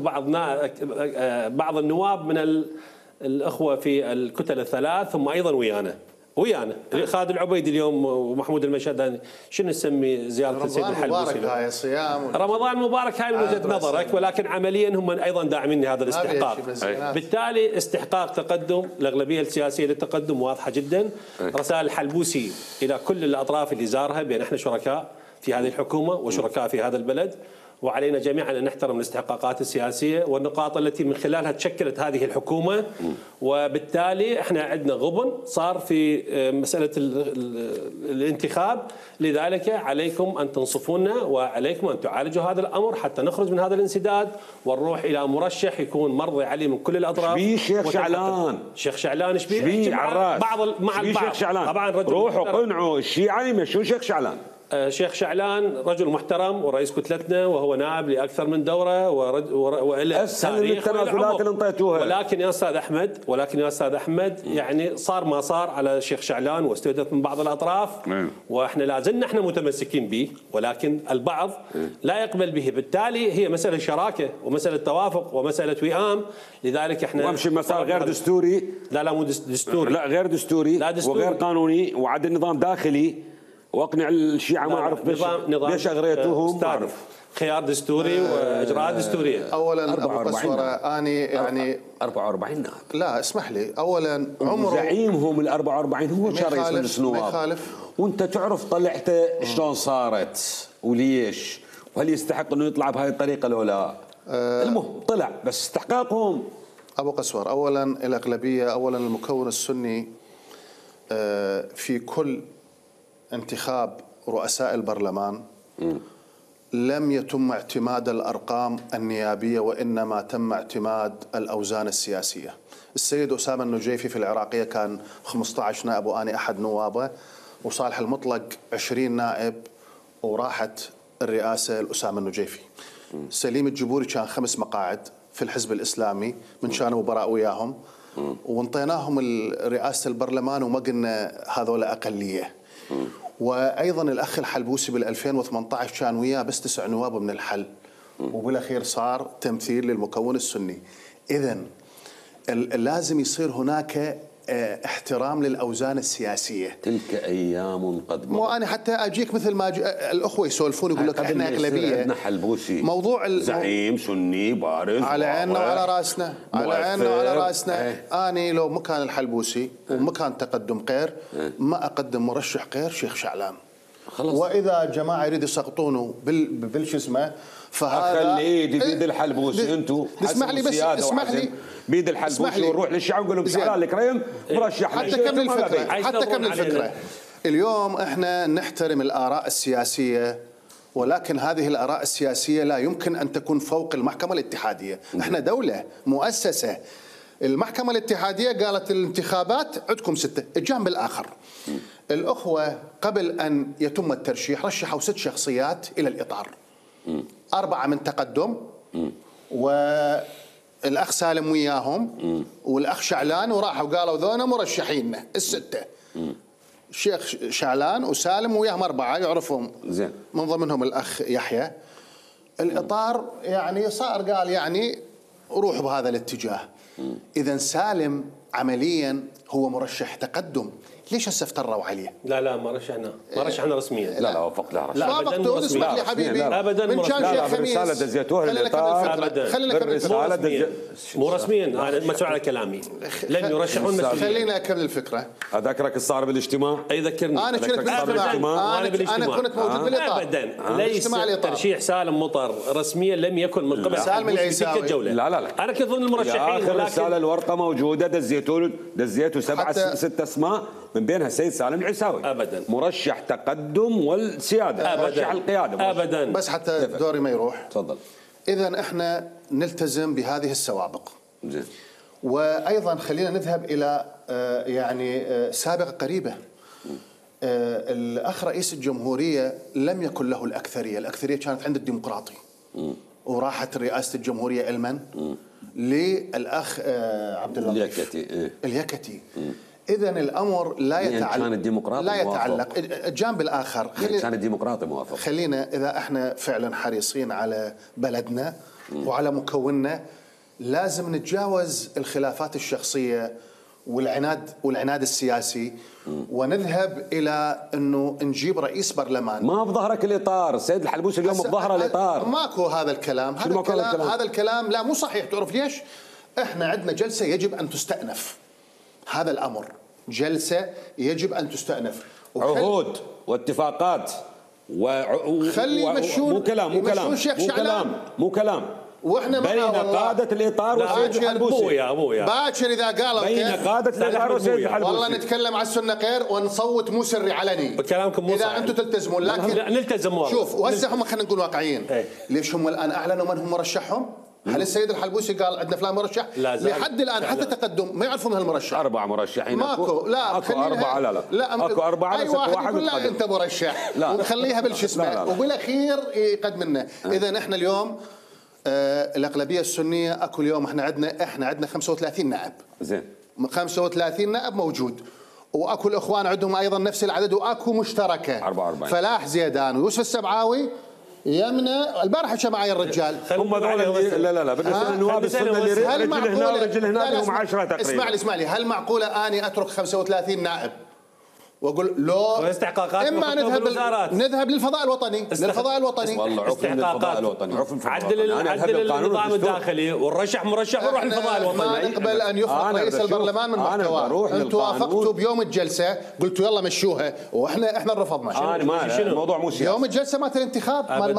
بعض النواب من الاخوه في الكتل الثلاث هم ايضا ويانا خالد العبيدي اليوم ومحمود المشهداني. شنو نسمي زياره السيد الحلبوسي؟ رمضان مبارك هاي صيام رمضان مبارك هاي من وجهه نظرك، ولكن عمليا هم ايضا داعمين لهذا الاستحقاق. بالتالي استحقاق تقدم الاغلبيه السياسيه للتقدم واضحه جدا. رسائل الحلبوسي الى كل الاطراف اللي زارها بان احنا شركاء في هذه الحكومه وشركاء في هذا البلد، وعلينا جميعا ان نحترم الاستحقاقات السياسيه والنقاط التي من خلالها تشكلت هذه الحكومه. وبالتالي احنا عندنا غبن صار في مساله الانتخاب، لذلك عليكم ان تنصفونا وعليكم ان تعالجوا هذا الامر حتى نخرج من هذا الانسداد ونروح الى مرشح يكون مرضي عليه من كل الاطراف. شيخ شعلان شيخ شعلان شبيه بعض مع البعض شيخ شعلان طبعا روحوا قنعوا الشيعة يمشون شيخ شعلان. شيخ شعلان رجل محترم ورئيس كتلتنا وهو نائب لاكثر من دوره وله تاريخ التنازلات اللي انطيتوها. ولكن يا استاذ احمد يعني صار ما صار على شيخ شعلان واستهدف من بعض الاطراف، واحنا لا زلنا احنا متمسكين به، ولكن البعض لا يقبل به. بالتالي هي مساله شراكه ومساله توافق ومساله وئام، لذلك احنا وامشي مسار غير دستوري. لا مو دستوري، لا غير دستوري وغير قانوني وعد نظام داخلي، واقنع الشيعة ما اعرف ليش اغريتوهم. خيار دستوري واجراءات دستوريه. اولا ابو قسوره اني يعني 44 نائب. لا اسمح لي، اولا عمره زعيمهم ال 44 هو كان رئيس مجلس النواب، وانت تعرف طلعته شلون صارت وليش، وهل يستحق انه يطلع بهذه الطريقه لو لا؟ المهم طلع، بس استحقاقهم. ابو قسور اولا الاغلبيه، اولا المكون السني في كل انتخاب رؤساء البرلمان لم يتم اعتماد الأرقام النيابية، وإنما تم اعتماد الأوزان السياسية. السيد أسامة النجيفي في العراقية كان 15 نائب وأنا أحد نوابه، وصالح المطلق 20 نائب وراحت الرئاسة لأسامة النجيفي. سليم الجبوري كان 5 مقاعد في الحزب الإسلامي من كانوا براء وياهم، وانطيناهم رئاسة البرلمان وما قلنا هذول أقلية. وايضا الاخ الحلبوسي بال 2018 كان وياه بس 9 نواب من الحل، وبالاخير صار تمثيل للمكون السني. اذا لازم يصير هناك احترام للأوزان السياسية. تلك أيام قد مضت. مو أنا حتى أجيك مثل ما الأخوة يسولفون يقول لك إحنا أغلبية. عندنا حلبوسي موضوع زعيم سني بارز على عيننا وعلى راسنا، على عيننا وعلى راسنا. أنا لو مكان الحلبوسي ومكان تقدم قير ما أقدم مرشح قير شيخ شعلان خلص. وإذا جماعة يريد يسقطونه بالشو اسمه فهذا خليه بيد الحلبوسي. انتم اسمح لي بس اسمح لي بيد الحلبوسي ونروح للشعب ونقول لهم شعلان الكريم مرشح. حتى كمل الفكرة، حتى كمل الفكرة. اليوم احنا نحترم الآراء السياسية، ولكن هذه الآراء السياسية لا يمكن أن تكون فوق المحكمة الاتحادية. احنا دولة مؤسسة. المحكمة الاتحادية قالت الانتخابات عندكم 6. الجانب الآخر الأخوة قبل أن يتم الترشيح رشحوا 6 شخصيات إلى الإطار، 4 من تقدم والأخ سالم وياهم والأخ شعلان، وراحوا قالوا ذونا مرشحين ال6. الشيخ شعلان وسالم وياهم 4 يعرفهم زين، من ضمنهم الأخ يحيى. الإطار يعني صار قال يعني روحوا بهذا الاتجاه. إذا سالم عمليا هو مرشح تقدم، ليش هسه افتروا عليه؟ لا ما رشحنا رسميا. لا وافق له لا ابدا. اسمح لي حبيبي ابدا من كان شيخ خميس رساله دزيتوها للاطار. خلينا نكمل. مو رسميا انا مسؤول على كلامي. لن يرشحون مسؤولين. خلينا اكمل الفكره. اذكرك الصار بالاجتماع. اي ذكرني. انا كنت بالاجتماع. انا كنت موجود بالاطار. ابدا ليس ترشيح سالم مطر رسميا لم يكن من قبل سالم العيساوي. لا انا كنت ضمن المرشحين. اخر رساله الورقه موجوده دزيتوا 6 اسماء من بينها السيد سالم العيساوي. ابدا مرشح تقدم والسياده، مرشح القياده ابدا. بس حتى دوري ما يروح. تفضل. اذا احنا نلتزم بهذه السوابق. زين. وايضا خلينا نذهب الى يعني سابقه قريبه. الاخ رئيس الجمهوريه لم يكن له الاكثريه، الاكثريه كانت عند الديمقراطي. وراحت رئاسه الجمهوريه علما للاخ عبد اللطيف اليكتي. إذا الأمر لا يتعلق الجانب الآخر. كان الديمقراطي موافق. خلينا إذا احنا فعلا حريصين على بلدنا وعلى مكوننا لازم نتجاوز الخلافات الشخصية والعناد السياسي ونذهب إلى أنه نجيب رئيس برلمان. ما بظهرك الإطار السيد الحلبوسي اليوم بظهر الإطار. ماكو هذا الكلام. هذا الكلام لا مو صحيح. تعرف ليش؟ احنا عندنا جلسة يجب أن تستأنف. هذا الأمر جلسة يجب أن تستأنف. عهود واتفاقات خلي يمشون. مو كلام واحنا بين قادة الإطار والسيد الحلبوسي. باكر إذا قالوا بين قادة الإطار والسيد الحلبوسي والله نتكلم على السنة غير ونصوت مو سري علني. كلامكم مو إذا أنتم تلتزمون. لكن نلتزم والله. شوف وهسه هم خلينا نقول واقعيين. ليش هم الآن أعلنوا من هم مرشحهم؟ هل السيد الحلبوسي قال عندنا فلان مرشح؟ لحد الآن حتى تقدم ما يعرفون هالمرشح. 4 مرشحين. ماكو. لا اكو 4. لا اكو 4. أي واحد يقول لا أنت مرشح ونخليها بالش اسمه وبالأخير يقدم لنا. إذا احنا اليوم الأغلبية السنية اكو اليوم احنا عندنا 35 نائب. زين. 35 نائب موجود. واكو الاخوان عندهم ايضا نفس العدد واكو مشتركه 44. فلاح زيدان ويوسف السبعاوي يمنى البارحه حكى معي الرجال. هم لا بالنسبه للنواب السنه اللي رجل هنا ورجل هنا هم 10 تقريبا. اسمع لي هل معقوله اني اترك 35 نائب واقول لو اما نذهب للفضاء الوطني والله عفوا للفضاء الوطني عدل النظام الداخلي والرشح مرشح وروح للفضاء الوطني. ما نقبل ان يفرض رئيس البرلمان من محتواه. انتم وافقتوا بيوم الجلسه قلتوا يلا مشوها واحنا رفضنا. الموضوع مو سياسي. يوم الجلسه مالت الانتخاب مال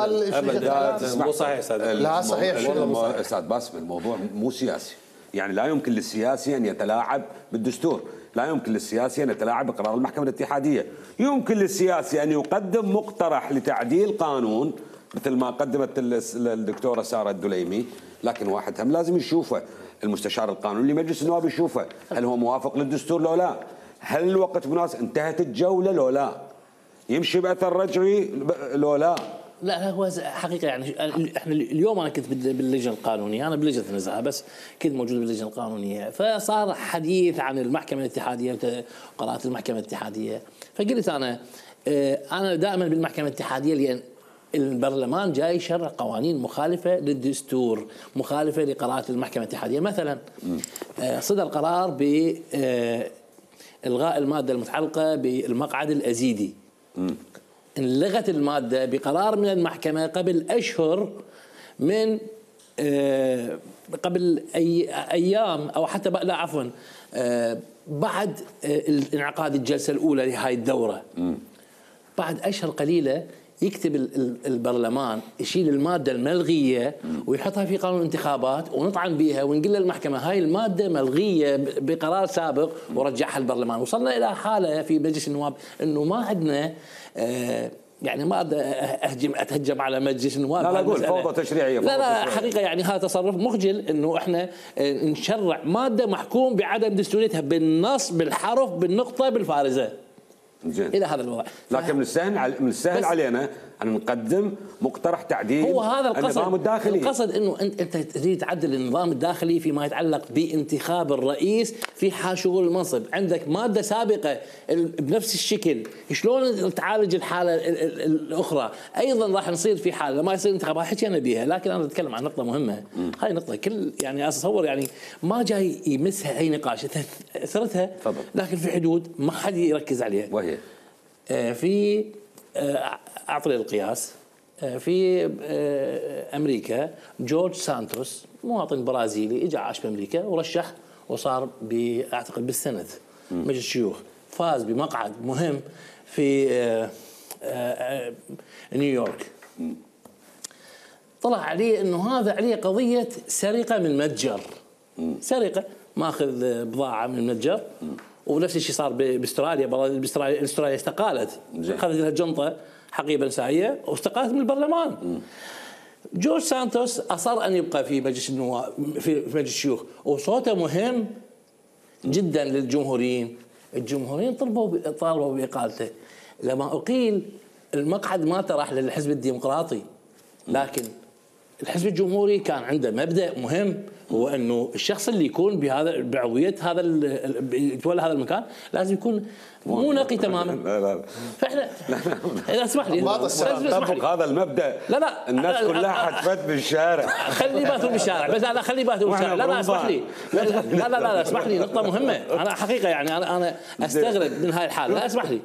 مو صحيح استاذ. لا صحيح والله استاذ باسم الموضوع مو سياسي. يعني لا يمكن للسياسي ان يتلاعب بالدستور، لا يمكن للسياسي أن يتلاعب بقرار المحكمة الاتحادية. يمكن للسياسي أن يقدم مقترح لتعديل قانون مثل ما قدمت الدكتورة سارة الدليمي، لكن واحد هم لازم يشوفه المستشار القانوني لمجلس النواب يشوفه هل هو موافق للدستور لو لا، هل الوقت مناسب، انتهت الجولة لو لا، يمشي بأثر رجعي لو لا. لا هو حقيقه يعني احنا اليوم انا كنت باللجنه القانونيه، انا بلجنه النزاهه بس كنت موجود باللجنه القانونيه، فصار حديث عن المحكمه الاتحاديه وقرارات المحكمه الاتحاديه، فقلت انا دائما بالمحكمه الاتحاديه لان البرلمان جاي يشرع قوانين مخالفة للدستور، مخالفة لقرارات المحكمة الاتحادية. مثلا صدر قرار بإلغاء المادة المتعلقة بالمقعد الأزيدي. انلغت المادة بقرار من المحكمة قبل أشهر، من قبل أيام أو حتى لا عفوا بعد انعقاد الجلسة الأولى لهاي الدورة. بعد أشهر قليلة يكتب البرلمان يشيل المادة الملغية ويحطها في قانون الانتخابات ونطعن بها ونقول للمحكمة هاي المادة ملغية بقرار سابق ورجعها البرلمان. وصلنا إلى حالة في مجلس النواب أنه ما عندنا يعني ما اتهجم على مجلس النواب، لا اقول فوضى تشريعيه. لا حقيقه يعني هذا تصرف مخجل انه احنا نشرع ماده محكوم بعدم دستوريتها بالنص بالحرف بالنقطه بالفارزه. جين. الى هذا الوضع. لكن من السهل علينا ان نقدم مقترح تعديل هو هذا النظام الداخلي. القصد انه انت تريد تعدل النظام الداخلي فيما يتعلق بانتخاب الرئيس في حال شغل المنصب. عندك ماده سابقه بنفس الشكل، شلون تعالج الحاله الاخرى؟ ايضا راح نصير في حال لما يصير انتخابات حكينا بها، لكن انا اتكلم عن نقطه مهمه. هاي نقطه كل يعني اتصور يعني ما جاي يمسها اي نقاش، اثرتها لكن في حدود ما حد يركز عليها. وهي في أعطي القياس في أمريكا جورج سانتوس مواطن برازيلي اجى عاش بأمريكا ورشح وصار أعتقد بالسنة مجلس الشيوخ، فاز بمقعد مهم في نيويورك. طلع عليه أنه هذا عليه قضية سرقة من متجر، سرقة ماخذ بضاعة من المتجر. ونفس الشيء صار باستراليا. استراليا استقالت، اخذت لها جنطه حقيبه نسائيه واستقالت من البرلمان. جورج سانتوس اصر ان يبقى في مجلس النواب في مجلس الشيوخ، وصوته مهم جدا للجمهوريين. الجمهوريين طالبوا باقالته. لما اقيل المقعد ما راح للحزب الديمقراطي، لكن الحزب الجمهوري كان عنده مبدأ مهم، هو انه الشخص اللي يكون بعضويه يتولى هذا المكان لازم يكون مو نقي تماما. لا فاحنا اذا اسمح لي طبق هذا المبدا. لا الناس كلها حتفت بالشارع. خلي باتوا بالشارع، بس لا خلي باتوا بالشارع. لا اسمح لي، لا اسمح لي، نقطه مهمه. انا حقيقه يعني انا استغرب من هاي الحاله. لا اسمح لي،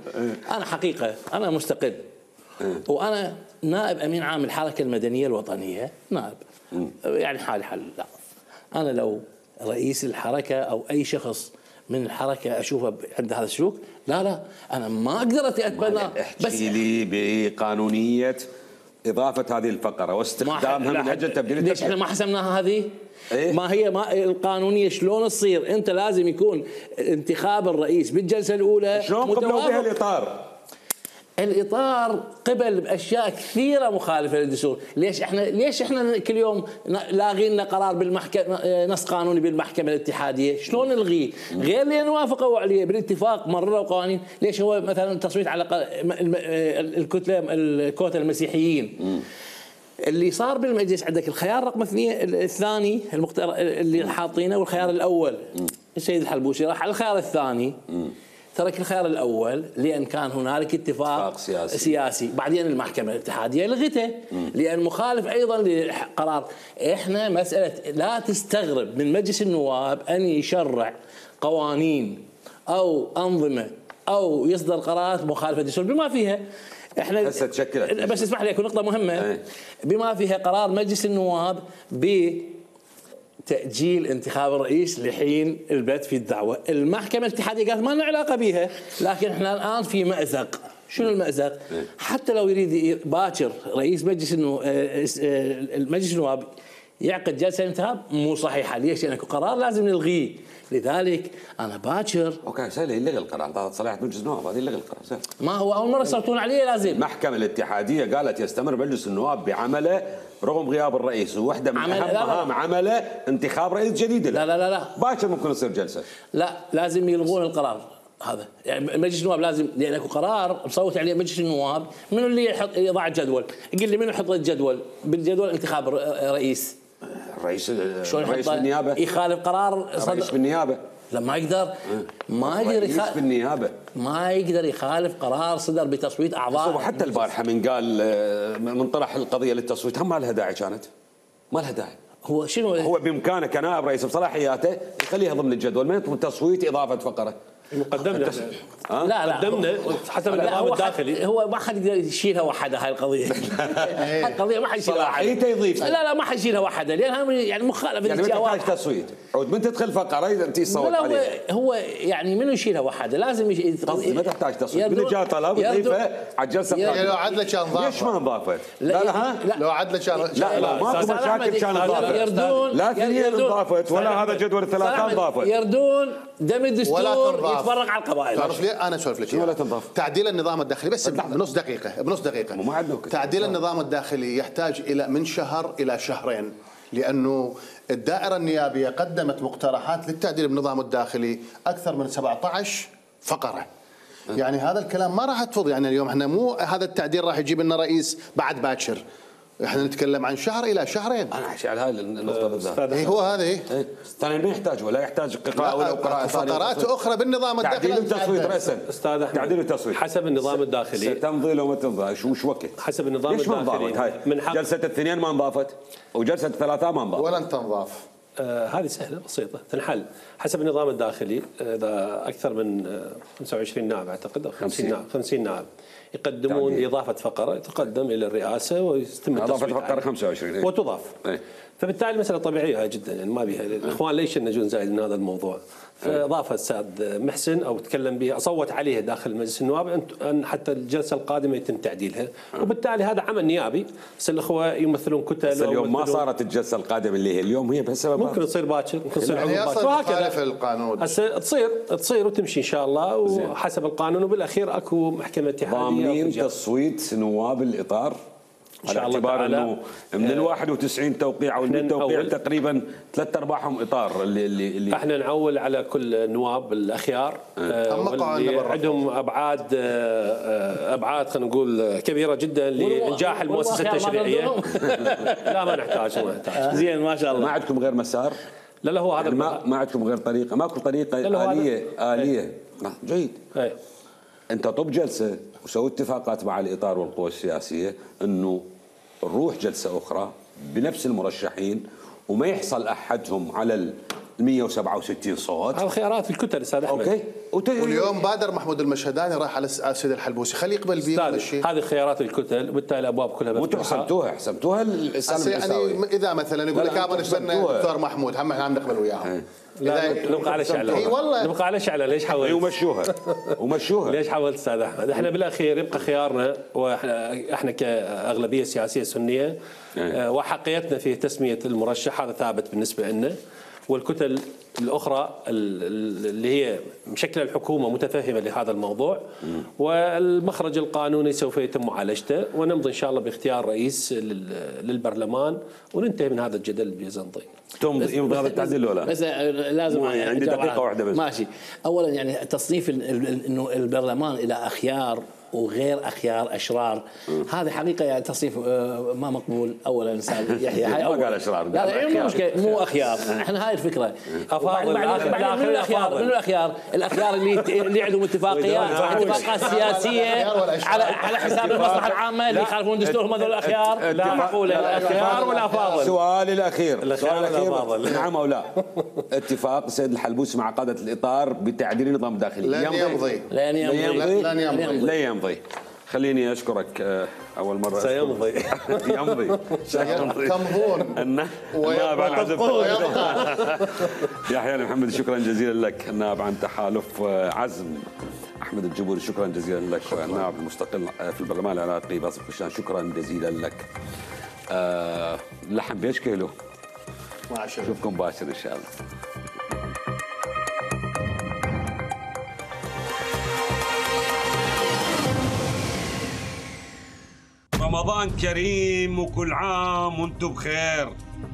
انا حقيقه انا مستقل، وانا نائب امين عام الحركه المدنيه الوطنيه، نائب يعني حالي حال. لا انا لو رئيس الحركه او اي شخص من الحركه اشوفه عند هذا السلوك، لا انا ما اقدر اتبنى. احكي لي بقانونيه اضافه هذه الفقره واستخدامها من اجل تبديل. ليش احنا ما حسمناها هذه؟ إيه؟ ما هي القانونيه شلون تصير؟ انت لازم يكون انتخاب الرئيس بالجلسه الاولى شلون قبلوا بها الاطار؟ الاطار قبل باشياء كثيره مخالفه للدستور. ليش احنا كل يوم لاغين لنا قرار بالمحكمه، نص قانوني بالمحكمه الاتحاديه؟ شلون نلغيه؟ غير لان وافقوا عليه بالاتفاق مرروا قوانين. ليش هو مثلا التصويت على الكوتا المسيحيين اللي صار بالمجلس؟ عندك الخيار رقم الثاني اللي حاطينه، والخيار الاول السيد الحلبوسي راح على الخيار الثاني، ترك الخيار الاول لان كان هنالك اتفاق سياسي. بعدين المحكمه الاتحاديه لغته لان مخالف ايضا لقرار. احنا مساله لا تستغرب من مجلس النواب ان يشرع قوانين او انظمه او يصدر قرارات مخالفه للدستور بما فيها احنا هسه تشكلت. بس اسمح لي اكو نقطه مهمه بما فيها قرار مجلس النواب تأجيل انتخاب الرئيس لحين البت في الدعوة. المحكمة الاتحادية قالت ما لنا علاقة بها، لكن احنا الآن في مأزق. شنو المأزق؟ حتى لو يريد باكر رئيس مجلس النواب يعقد جلسة انتخاب مو صحيحة. ليش؟ لأن قرار لازم نلغيه. لذلك أنا باكر اوكي سهل يلغي القرار، طلعت صلاحية مجلس النواب هذه يلغي القرار سهل. ما هو أول مرة يصوتون عليه لازم. المحكمة الاتحادية قالت يستمر مجلس النواب بعمله رغم غياب الرئيس، وواحدة من أهم مهام عمله انتخاب رئيس جديد. لا باكر ممكن يصير جلسة. لا لازم يلغون القرار هذا. يعني مجلس النواب لازم، لأن اكو قرار مصوت عليه مجلس النواب. منو اللي يضع الجدول؟ يقول لي منو يحط الجدول؟ بالجدول انتخاب رئيس. رئيس بالنيابة يخالف قرار رئيس بالنيابة. لا ما يقدر بالنيابه ما يقدر يخالف قرار صدر بتصويت اعضاء. حتى البارحه من قال من طرح القضيه للتصويت هم ما لها داعي، كانت ما لها داعي. هو بامكانه كنائب رئيس بصلاحياته يخليها ضمن الجدول، ما يطلب تصويت اضافه فقره. قدمنا قدمنا حسب النظام الداخلي. هو ما حد يقدر يشيلها وحده هاي القضيه. هاي القضيه ما حد يشيلها وحده. صلاحيته يضيف. لا ما حد يشيلها وحده لانها يعني مخالفه يعني ما تحتاج تصويت. عود من تدخل فقره انت تصوت عليها. هو يعني منو يشيلها وحده لازم ما تحتاج تصويت. من جاء طلب تضيفه على الجلسه يعني لو عدله كان ضافه. ليش ما انضافت؟ لا لو عدله كان لا ماكو مشاكل كان انضافت. لا ثنين انضافت ولا هذا جدول الثلاثه انضافت. يردون دم الدستور يتفرق على القبائل. تعرف ليه؟ انا اسولف لك ولا تنضاف. تعديل النظام الداخلي بس بنص دقيقه ما عندنا تعديل النظام الداخلي يحتاج الى من شهر الى شهرين، لانه الدائره النيابيه قدمت مقترحات للتعديل بالنظام الداخلي اكثر من 17 فقره. يعني هذا الكلام ما راح تفض. يعني اليوم احنا مو هذا التعديل راح يجيب لنا رئيس بعد باكر، احنا نتكلم عن شهر الى شهرين. انا احكي على هاي النقطه بالذات. هو هذا ثانيا ما يحتاج ولا يحتاج قراءه ولا قراءه فقرات اخرى بالنظام الداخلي. تعديل وتصويت راسا. استاذ احمد تعديل وتصويت حسب النظام الداخلي تمضي لو ما تمضي شو وقت؟ حسب النظام الداخلي هاي من حق جلسه الاثنين ما انضافت وجلسه الثلاثاء ما انضافت ولن تنضاف. هذه سهله بسيطه تنحل حسب النظام الداخلي. اذا اكثر من 25 نائب اعتقد او 50 نائب يقدمون اضافه فقره تقدم الى الرئاسه ويتم اضافه فقره 25 وتضاف. فبالتالي مساله طبيعيه جدا يعني ما بيها الاخوان ليش ينجون زايد من هذا الموضوع. فاضافه الاستاذ محسن او تكلم بها اصوت عليها داخل مجلس النواب ان حتى الجلسه القادمه يتم تعديلها وبالتالي هذا عمل نيابي. بس الاخوه يمثلون كتل. بس اليوم ما صارت الجلسه القادمه اللي هي اليوم هي بسبب ممكن تصير باكر ممكن تصير عقب باكر وهكذا. القانون هسه تصير وتمشي ان شاء الله وحسب القانون وبالاخير اكو محكمه اتحاديه. ضامنين تصويت نواب الاطار على اعتبار انه من 91 توقيع او 100 توقيع تقريبا 3/4 اطار اللي احنا نعول على كل النواب الاخيار واللي عندهم ابعاد خلينا نقول كبيره جدا لانجاح المؤسسه التشريعيه. لا ما نحتاج زين ما شاء الله. ما عندكم غير مسار؟ لا هو هذا ما عندكم غير طريقه؟ ماكو طريقه آلية جيد. انت طب جلسه وسوي اتفاقات مع الاطار والقوى السياسيه انه نروح جلسه اخرى بنفس المرشحين وما يحصل احدهم على ال 167 صوت. هذا خيارات الكتل استاذ احمد. اوكي. واليوم بادر محمود المشهداني راح على السيد الحلبوسي خليه يقبل بيه الشيء. هذه خيارات الكتل وبالتالي الابواب كلها مفتوحه. حسبتوها يعني اذا مثلا يقول لك ابا نتبنى الدكتور محمود هم احنا عم نقبل وياهم. لا نبقى على شعله. والله نبقى على شعله. ليش حاولت؟ ومشوها ليش حاولت استاذ احمد؟ احنا بالاخير يبقى خيارنا واحنا كاغلبيه سياسيه سنيه وحقيتنا في تسميه المرشح هذا ثابت بالنسبه لنا. والكتل الاخرى اللي هي مشكله الحكومه متفهمه لهذا الموضوع والمخرج القانوني سوف يتم معالجته ونمضي ان شاء الله باختيار رئيس للبرلمان وننتهي من هذا الجدل البيزنطي. يمضي هذا التعديل ولا؟ بس لازم عندي دقيقه واحده بس. ماشي. اولا يعني تصنيف انه البرلمان الى اخيار وغير اخيار اشرار هذه حقيقه يعني تصنيف ما مقبول. اولا استاذ يحيى هاي ما قال اشرار لا مشكله مو اخيار. احنا هاي الفكره افاضل. من الاخيار اللي عندهم اتفاقات سياسيه على حساب المصلحه العامه اللي يخالفون الدستور هم هذول الاخيار. لا معقوله الاخيار ولا فاضل. سؤالي الاخير نعم او لا. اتفاق السيد الحلبوسي مع قاده الاطار بتعديل النظام الداخلي لن يمضي. خليني اشكرك اول مره. سيمضي. يمضي. تمضون النائب عن عزف يحيى محمد شكرا جزيلا لك. النائب عن تحالف عزم احمد الجبوري شكرا جزيلا لك. النائب المستقل في البرلمان العراقي باسل خشان شكرا جزيلا لك. اللحم بايش كيلو؟ نشوفكم باكر ان شاء الله. رمضان كريم وكل عام وانتم بخير.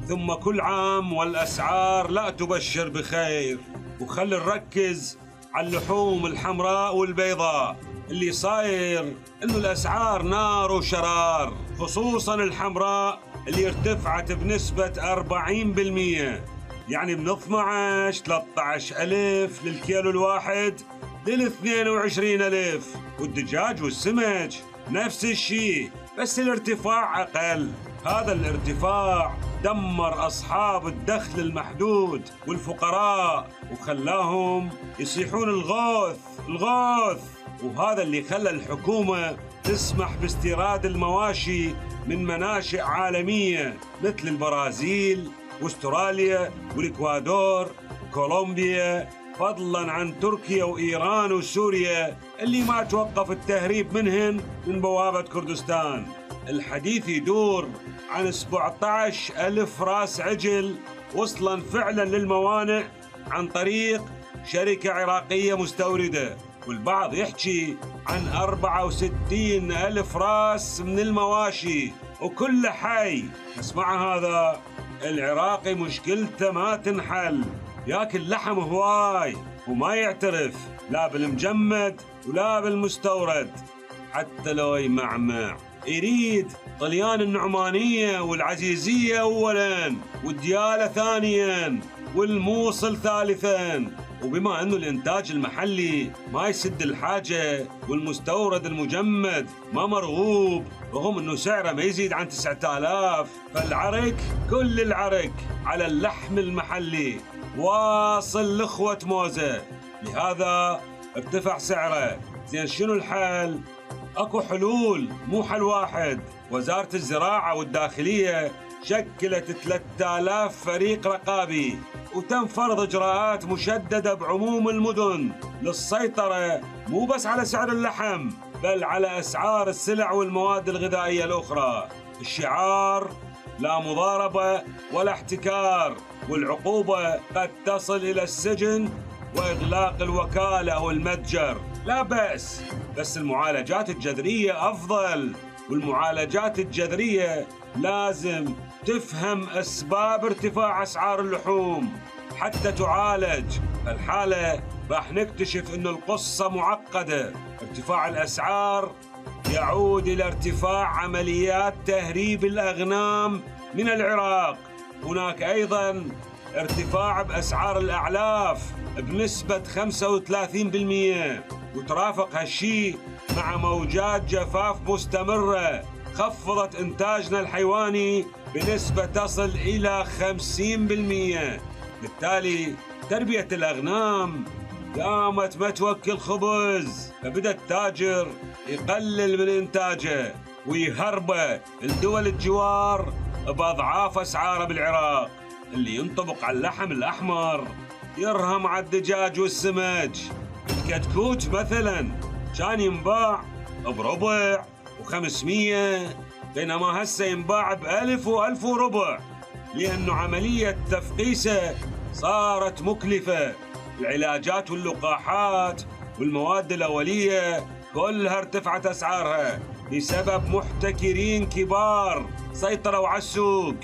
ثم كل عام والأسعار لا تبشر بخير. وخلي نركز على اللحوم الحمراء والبيضاء. اللي صاير انه الأسعار نار وشرار، خصوصا الحمراء اللي ارتفعت بنسبة 40%. يعني من 13 ألف للكيلو الواحد لل 22 ألف. والدجاج والسمك نفس الشيء، بس الارتفاع أقل. هذا الارتفاع دمر أصحاب الدخل المحدود والفقراء وخلاهم يصيحون الغوث الغوث. وهذا اللي خلى الحكومة تسمح باستيراد المواشي من مناشئ عالمية مثل البرازيل واستراليا والإكوادور وكولومبيا، فضلا عن تركيا وإيران وسوريا اللي ما توقف التهريب منهن من بوابة كردستان. الحديث يدور عن 17,000 راس عجل وصلا فعلا للموانئ عن طريق شركة عراقية مستوردة، والبعض يحكي عن 64,000 راس من المواشي وكل حي. بس مع هذا العراقي مشكلته ما تنحل، ياكل لحم هواي وما يعترف لا بالمجمد ولا بالمستورد. حتى لو يمعمع يريد طليان النعمانية والعزيزية أولاً والديالة ثانياً والموصل ثالثاً. وبما أنه الإنتاج المحلي ما يسد الحاجة والمستورد المجمد ما مرغوب رغم أنه سعره ما يزيد عن 9,000، فالعرك كل العرك على اللحم المحلي واصل لإخوة موزة، لهذا ارتفع سعره. زين شنو الحل؟ اكو حلول، مو حل واحد. وزارة الزراعة والداخلية شكلت 3000 فريق رقابي وتم فرض إجراءات مشددة بعموم المدن للسيطرة مو بس على سعر اللحم بل على أسعار السلع والمواد الغذائية الأخرى. الشعار لا مضاربة ولا احتكار، والعقوبة قد تصل إلى السجن وإغلاق الوكالة أو المتجر. لا بأس، بس المعالجات الجذرية أفضل، والمعالجات الجذرية لازم تفهم أسباب ارتفاع أسعار اللحوم حتى تعالج. الحالة راح نكتشف أن القصة معقدة. ارتفاع الأسعار يعود إلى ارتفاع عمليات تهريب الأغنام من العراق. هناك أيضاً ارتفاع بأسعار الأعلاف بنسبة 35%، وترافق هالشيء مع موجات جفاف مستمرة خفضت إنتاجنا الحيواني بنسبة تصل إلى 50%. بالتالي تربية الأغنام قامت ما توكل خبز، فبدأ التاجر يقلل من إنتاجه ويهربه لدول الجوار بأضعاف أسعاره بالعراق. اللي ينطبق على اللحم الأحمر يرهم على الدجاج والسمك. الكتكوت مثلا كان ينباع بربع و500، بينما هسه ينباع ب1000 و1000 وربع، لأنه عملية تفقيسه صارت مكلفة. العلاجات واللقاحات والمواد الأولية كلها ارتفعت أسعارها بسبب محتكرين كبار سيطروا على السوق،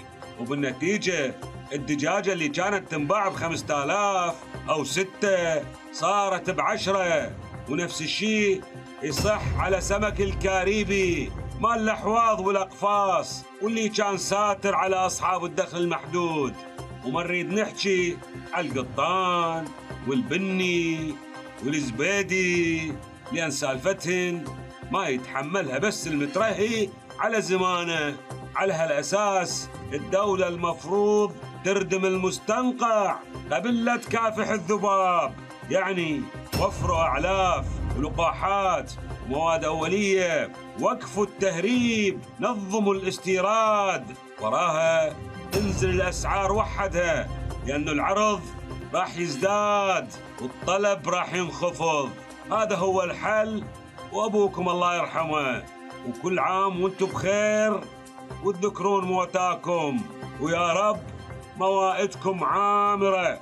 وبالنتيجة الدجاجة اللي كانت تنباع ب5000 أو 6 صارت ب10. ونفس الشيء يصح على سمك الكاريبي مال الأحواض والأقفاص واللي كان ساتر على أصحاب الدخل المحدود. وما نريد نحكي على القطان والبني والزبيدي، لأن سالفتهن ما يتحملها بس المترهي على زمانه. على هالأساس الدولة المفروض تردم المستنقع قبل لا تكافح الذباب، يعني وفروا أعلاف ولقاحات ومواد أولية، وقفوا التهريب، نظموا الاستيراد، وراها تنزل الأسعار وحدها، لأن العرض راح يزداد والطلب راح ينخفض. هذا هو الحل، وأبوكم الله يرحمه. وكل عام وانتم بخير وتذكرون موتاكم، ويا رب موائدكم عامرة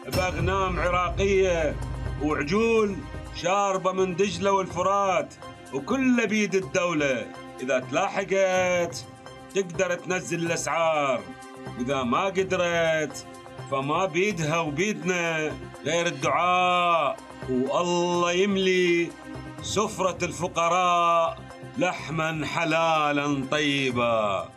بأغنام عراقية وعجول شاربة من دجلة والفرات، وكل بيد الدولة. إذا تلاحقت تقدر تنزل الأسعار، وإذا ما قدرت فما بيدها وبيدنا غير الدعاء، والله يملي سفرة الفقراء لحما حلالا طيبا.